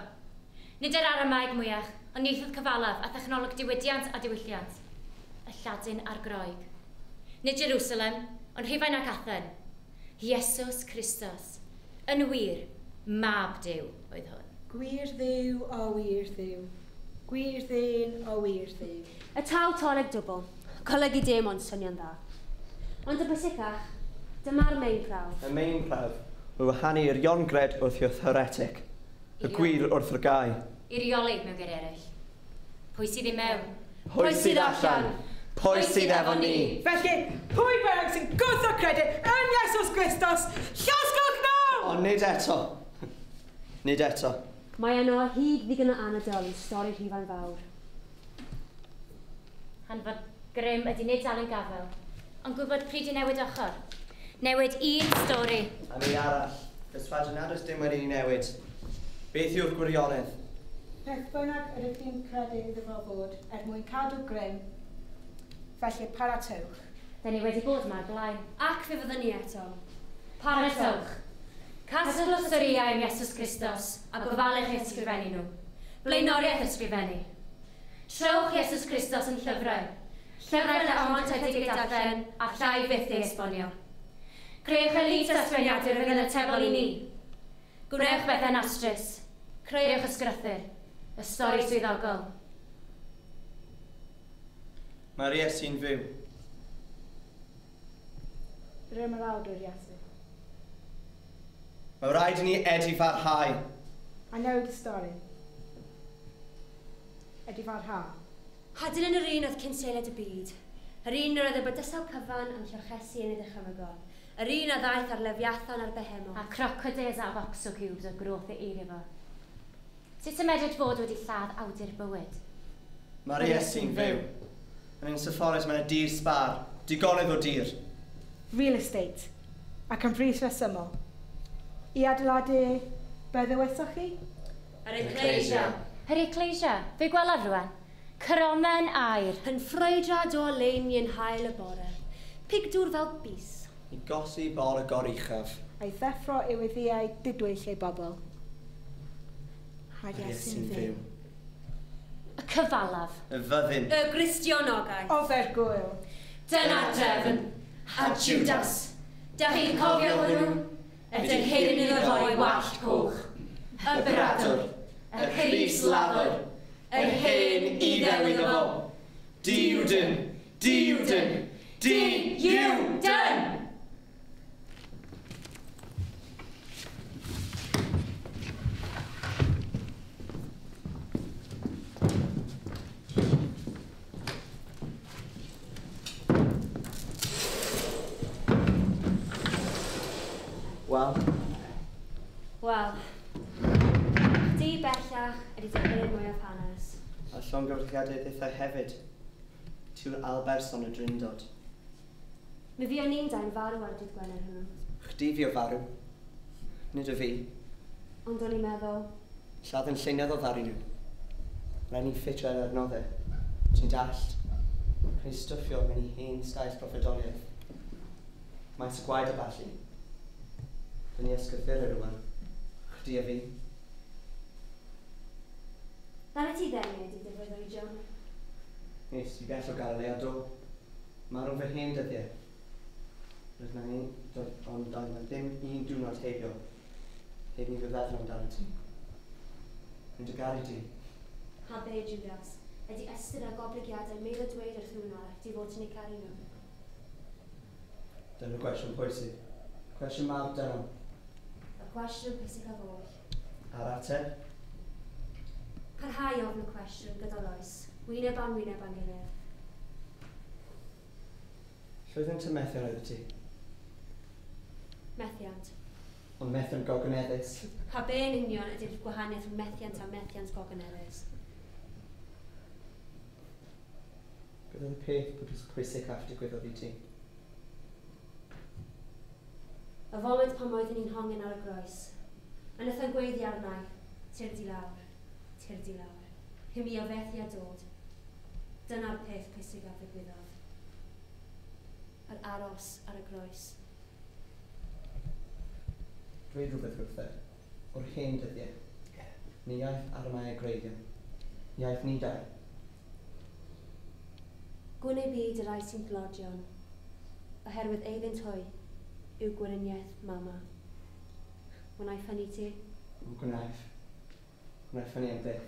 Nid yr Aramaeg mwyach, ond ieithoedd cyfalaf a thechnoleg diwydiant a diwylliant. Y Lladin a'r Groeg. Nid Jerusalem, ond Rhufain ac Athen. Iesus Christos. Yn wir, mab Duw oedd hwn. Gwir Dduw o wir Dduw. Gwir ddyn o wir Dduw. Y taw toleg dwbl. Golygu dim ond swnio'n dda. Ond y bwysicach, dyma'r main prawf. Y main prawf yw wahanu i'r iongred wrth i'w heretic. Y gwir wrth yr gau. Irioli mewn geiriau eraill. Pwy sydd i mewn? Pwy sydd allan? Pwy sydd efo ni? Felly, pwy bynnag sy'n gwrthod credu yn Iesus Christos, llosgwch nhw! Ond nid eto. Nid eto. Mae yno o hyd ddigon o anadl i stori Rhufain fawr. Hanfod grym ydy nid dal yn gafel, ond gwybod pryd i newid ochr. Newid un stori. A mi arall, ysfadyn nad oes dim wedi ei newid. Beth yw'r gwirionedd? Beth bynnag yr ydych chi'n credu iddo fo fod er mwyn cadw grym, felly paratowch. Da ni wedi bod yma o'r blaen. Ac fe fyddwn ni eto. Paratowch. Casglwch storïau am Iesus Christos a gofalwch eu ysgrifennu nhw. Blaenoriaeth ysgrifennu. Trowch Iesus Christos yn llyfrau. Llyfrau na ond ydy eu darllen a llai fyth ei esbonio. Creuwch elite ysgrifeniadur fydd yn atebol i ni. Gwnewch bethau'n astrus. Creuwch ysgrythur. Y stori swyddogol. Mae'r Iesu'n fyw. Yr ymerawdwr Iesu. Mae rhaid i ni edifarhau. A newid y stori. Edifarhau. Hadyn yn yr un oedd cynseiliad y byd. Yr un yr oedd y bydysawd cyfan yn llochesu yn ei ddychymygol. Yr un a ddaeth ar Lefiathan a'r Behemoth. A crocodiles a boxo cubes o groth ei eirio fo. Sut y medrwyd fod wedi lladd awdur bywyd? Mae'r Iesu'n fyw. Yn ein Sepphoris mae'n y dir sbar, digonedd o dir. Real estate. Ac yn frys resymol. I adeiladu, be ddywesoch chi? Yr Ecclesia. Yr Ecclesia. Fe gwelaf rwan. Cromen aur. Yn ffrwydrad o oleuni yn haul y bore. Pigdŵr fel bys. I gosi bol y goruchaf. A'i ddeffro yw weddiau didwyll ei bobl. Mae'r Iesu'n fyw. Y cyfalaf. Y fyddin. Y Gristionogaeth. Ofer gwyl. Dyna'r drefn. A Judas. Da chi'n cofio hwnnw? Y dynhedyn iddo roi wallt coch. Y bradwr. Y crys lafr. Yr hen iddew iddo fo. Diwdyn. Diwdyn. Di-iw-dyn! Wel? Wel, di bellach ydy dychmygu mwyaf hanes. A llongyfarchiadau ddethau hefyd. Tiw'r alberson y drindod. Mi fuon ni'n dau'n farw ar dydd Gwener hwnnw. Chdi fi o farw. Nid y fi. Ond o'n i'n meddwl... Lladd yn lleunydd o ddaru nhw. Rhaid ni'n ffitio ar adnoddau. Ti'n dallt. Rhaid stwffio mewn i hen staes proffedoliaeth. Maes y gwaed a ballu. Dyn ni ysgrythurau rwan. Chdi a fi. Ddaru ti ddenu ydy dy freuddwydion? Nes i bell o Galilea do. Marw fy hen dyddiau. Roedd na un, ond doedd na ddim un diwrnod heibio. Heb ni fy feddwl amdano ti. Rwy'n dy garu di. Ha be, Judas, ydy ystyr a goblygiadau meddwl dweud wrth rhywun arall di fod ti'n eu caru nhw. Dyna'r gwestiwn pwysig. Cwestiwn mawr dynol. Y cwestiwn pwysicaf oll. A'r ateb? Parhau ofn y cwestiwn gydol oes, wyneb am wyneb am gilydd. Llwyddiant y methiant oedd ti? Methiant. Ond methiant gogoneddus. Pa be yn union ydy'r gwahaniaeth rhwng methiant a methiant gogoneddus? Beth oedd y peth pwysicaf digwyddodd i ti? Y foment pan oeddwn i'n hongen ar y groes. A wnaeth o'n gweiddi arna i, tyrd i lawr, tyrd i lawr. I mi o fethu a dod. Dyna'r peth pwysicaf ddigwyddodd. Yr aros ar y groes. Dweud rhywbeth wrtho, o'r hen dyddiau. Ni iaith Aramaic gwreiddiol. Iaith ni dau. Gwn ei byd y rai sy'n dlodion, oherwydd eiddynt hwy yw gweriniaeth mama. Wna i ffynnu ti? Gwnaeth. Gwnaeth ffynnu am byth.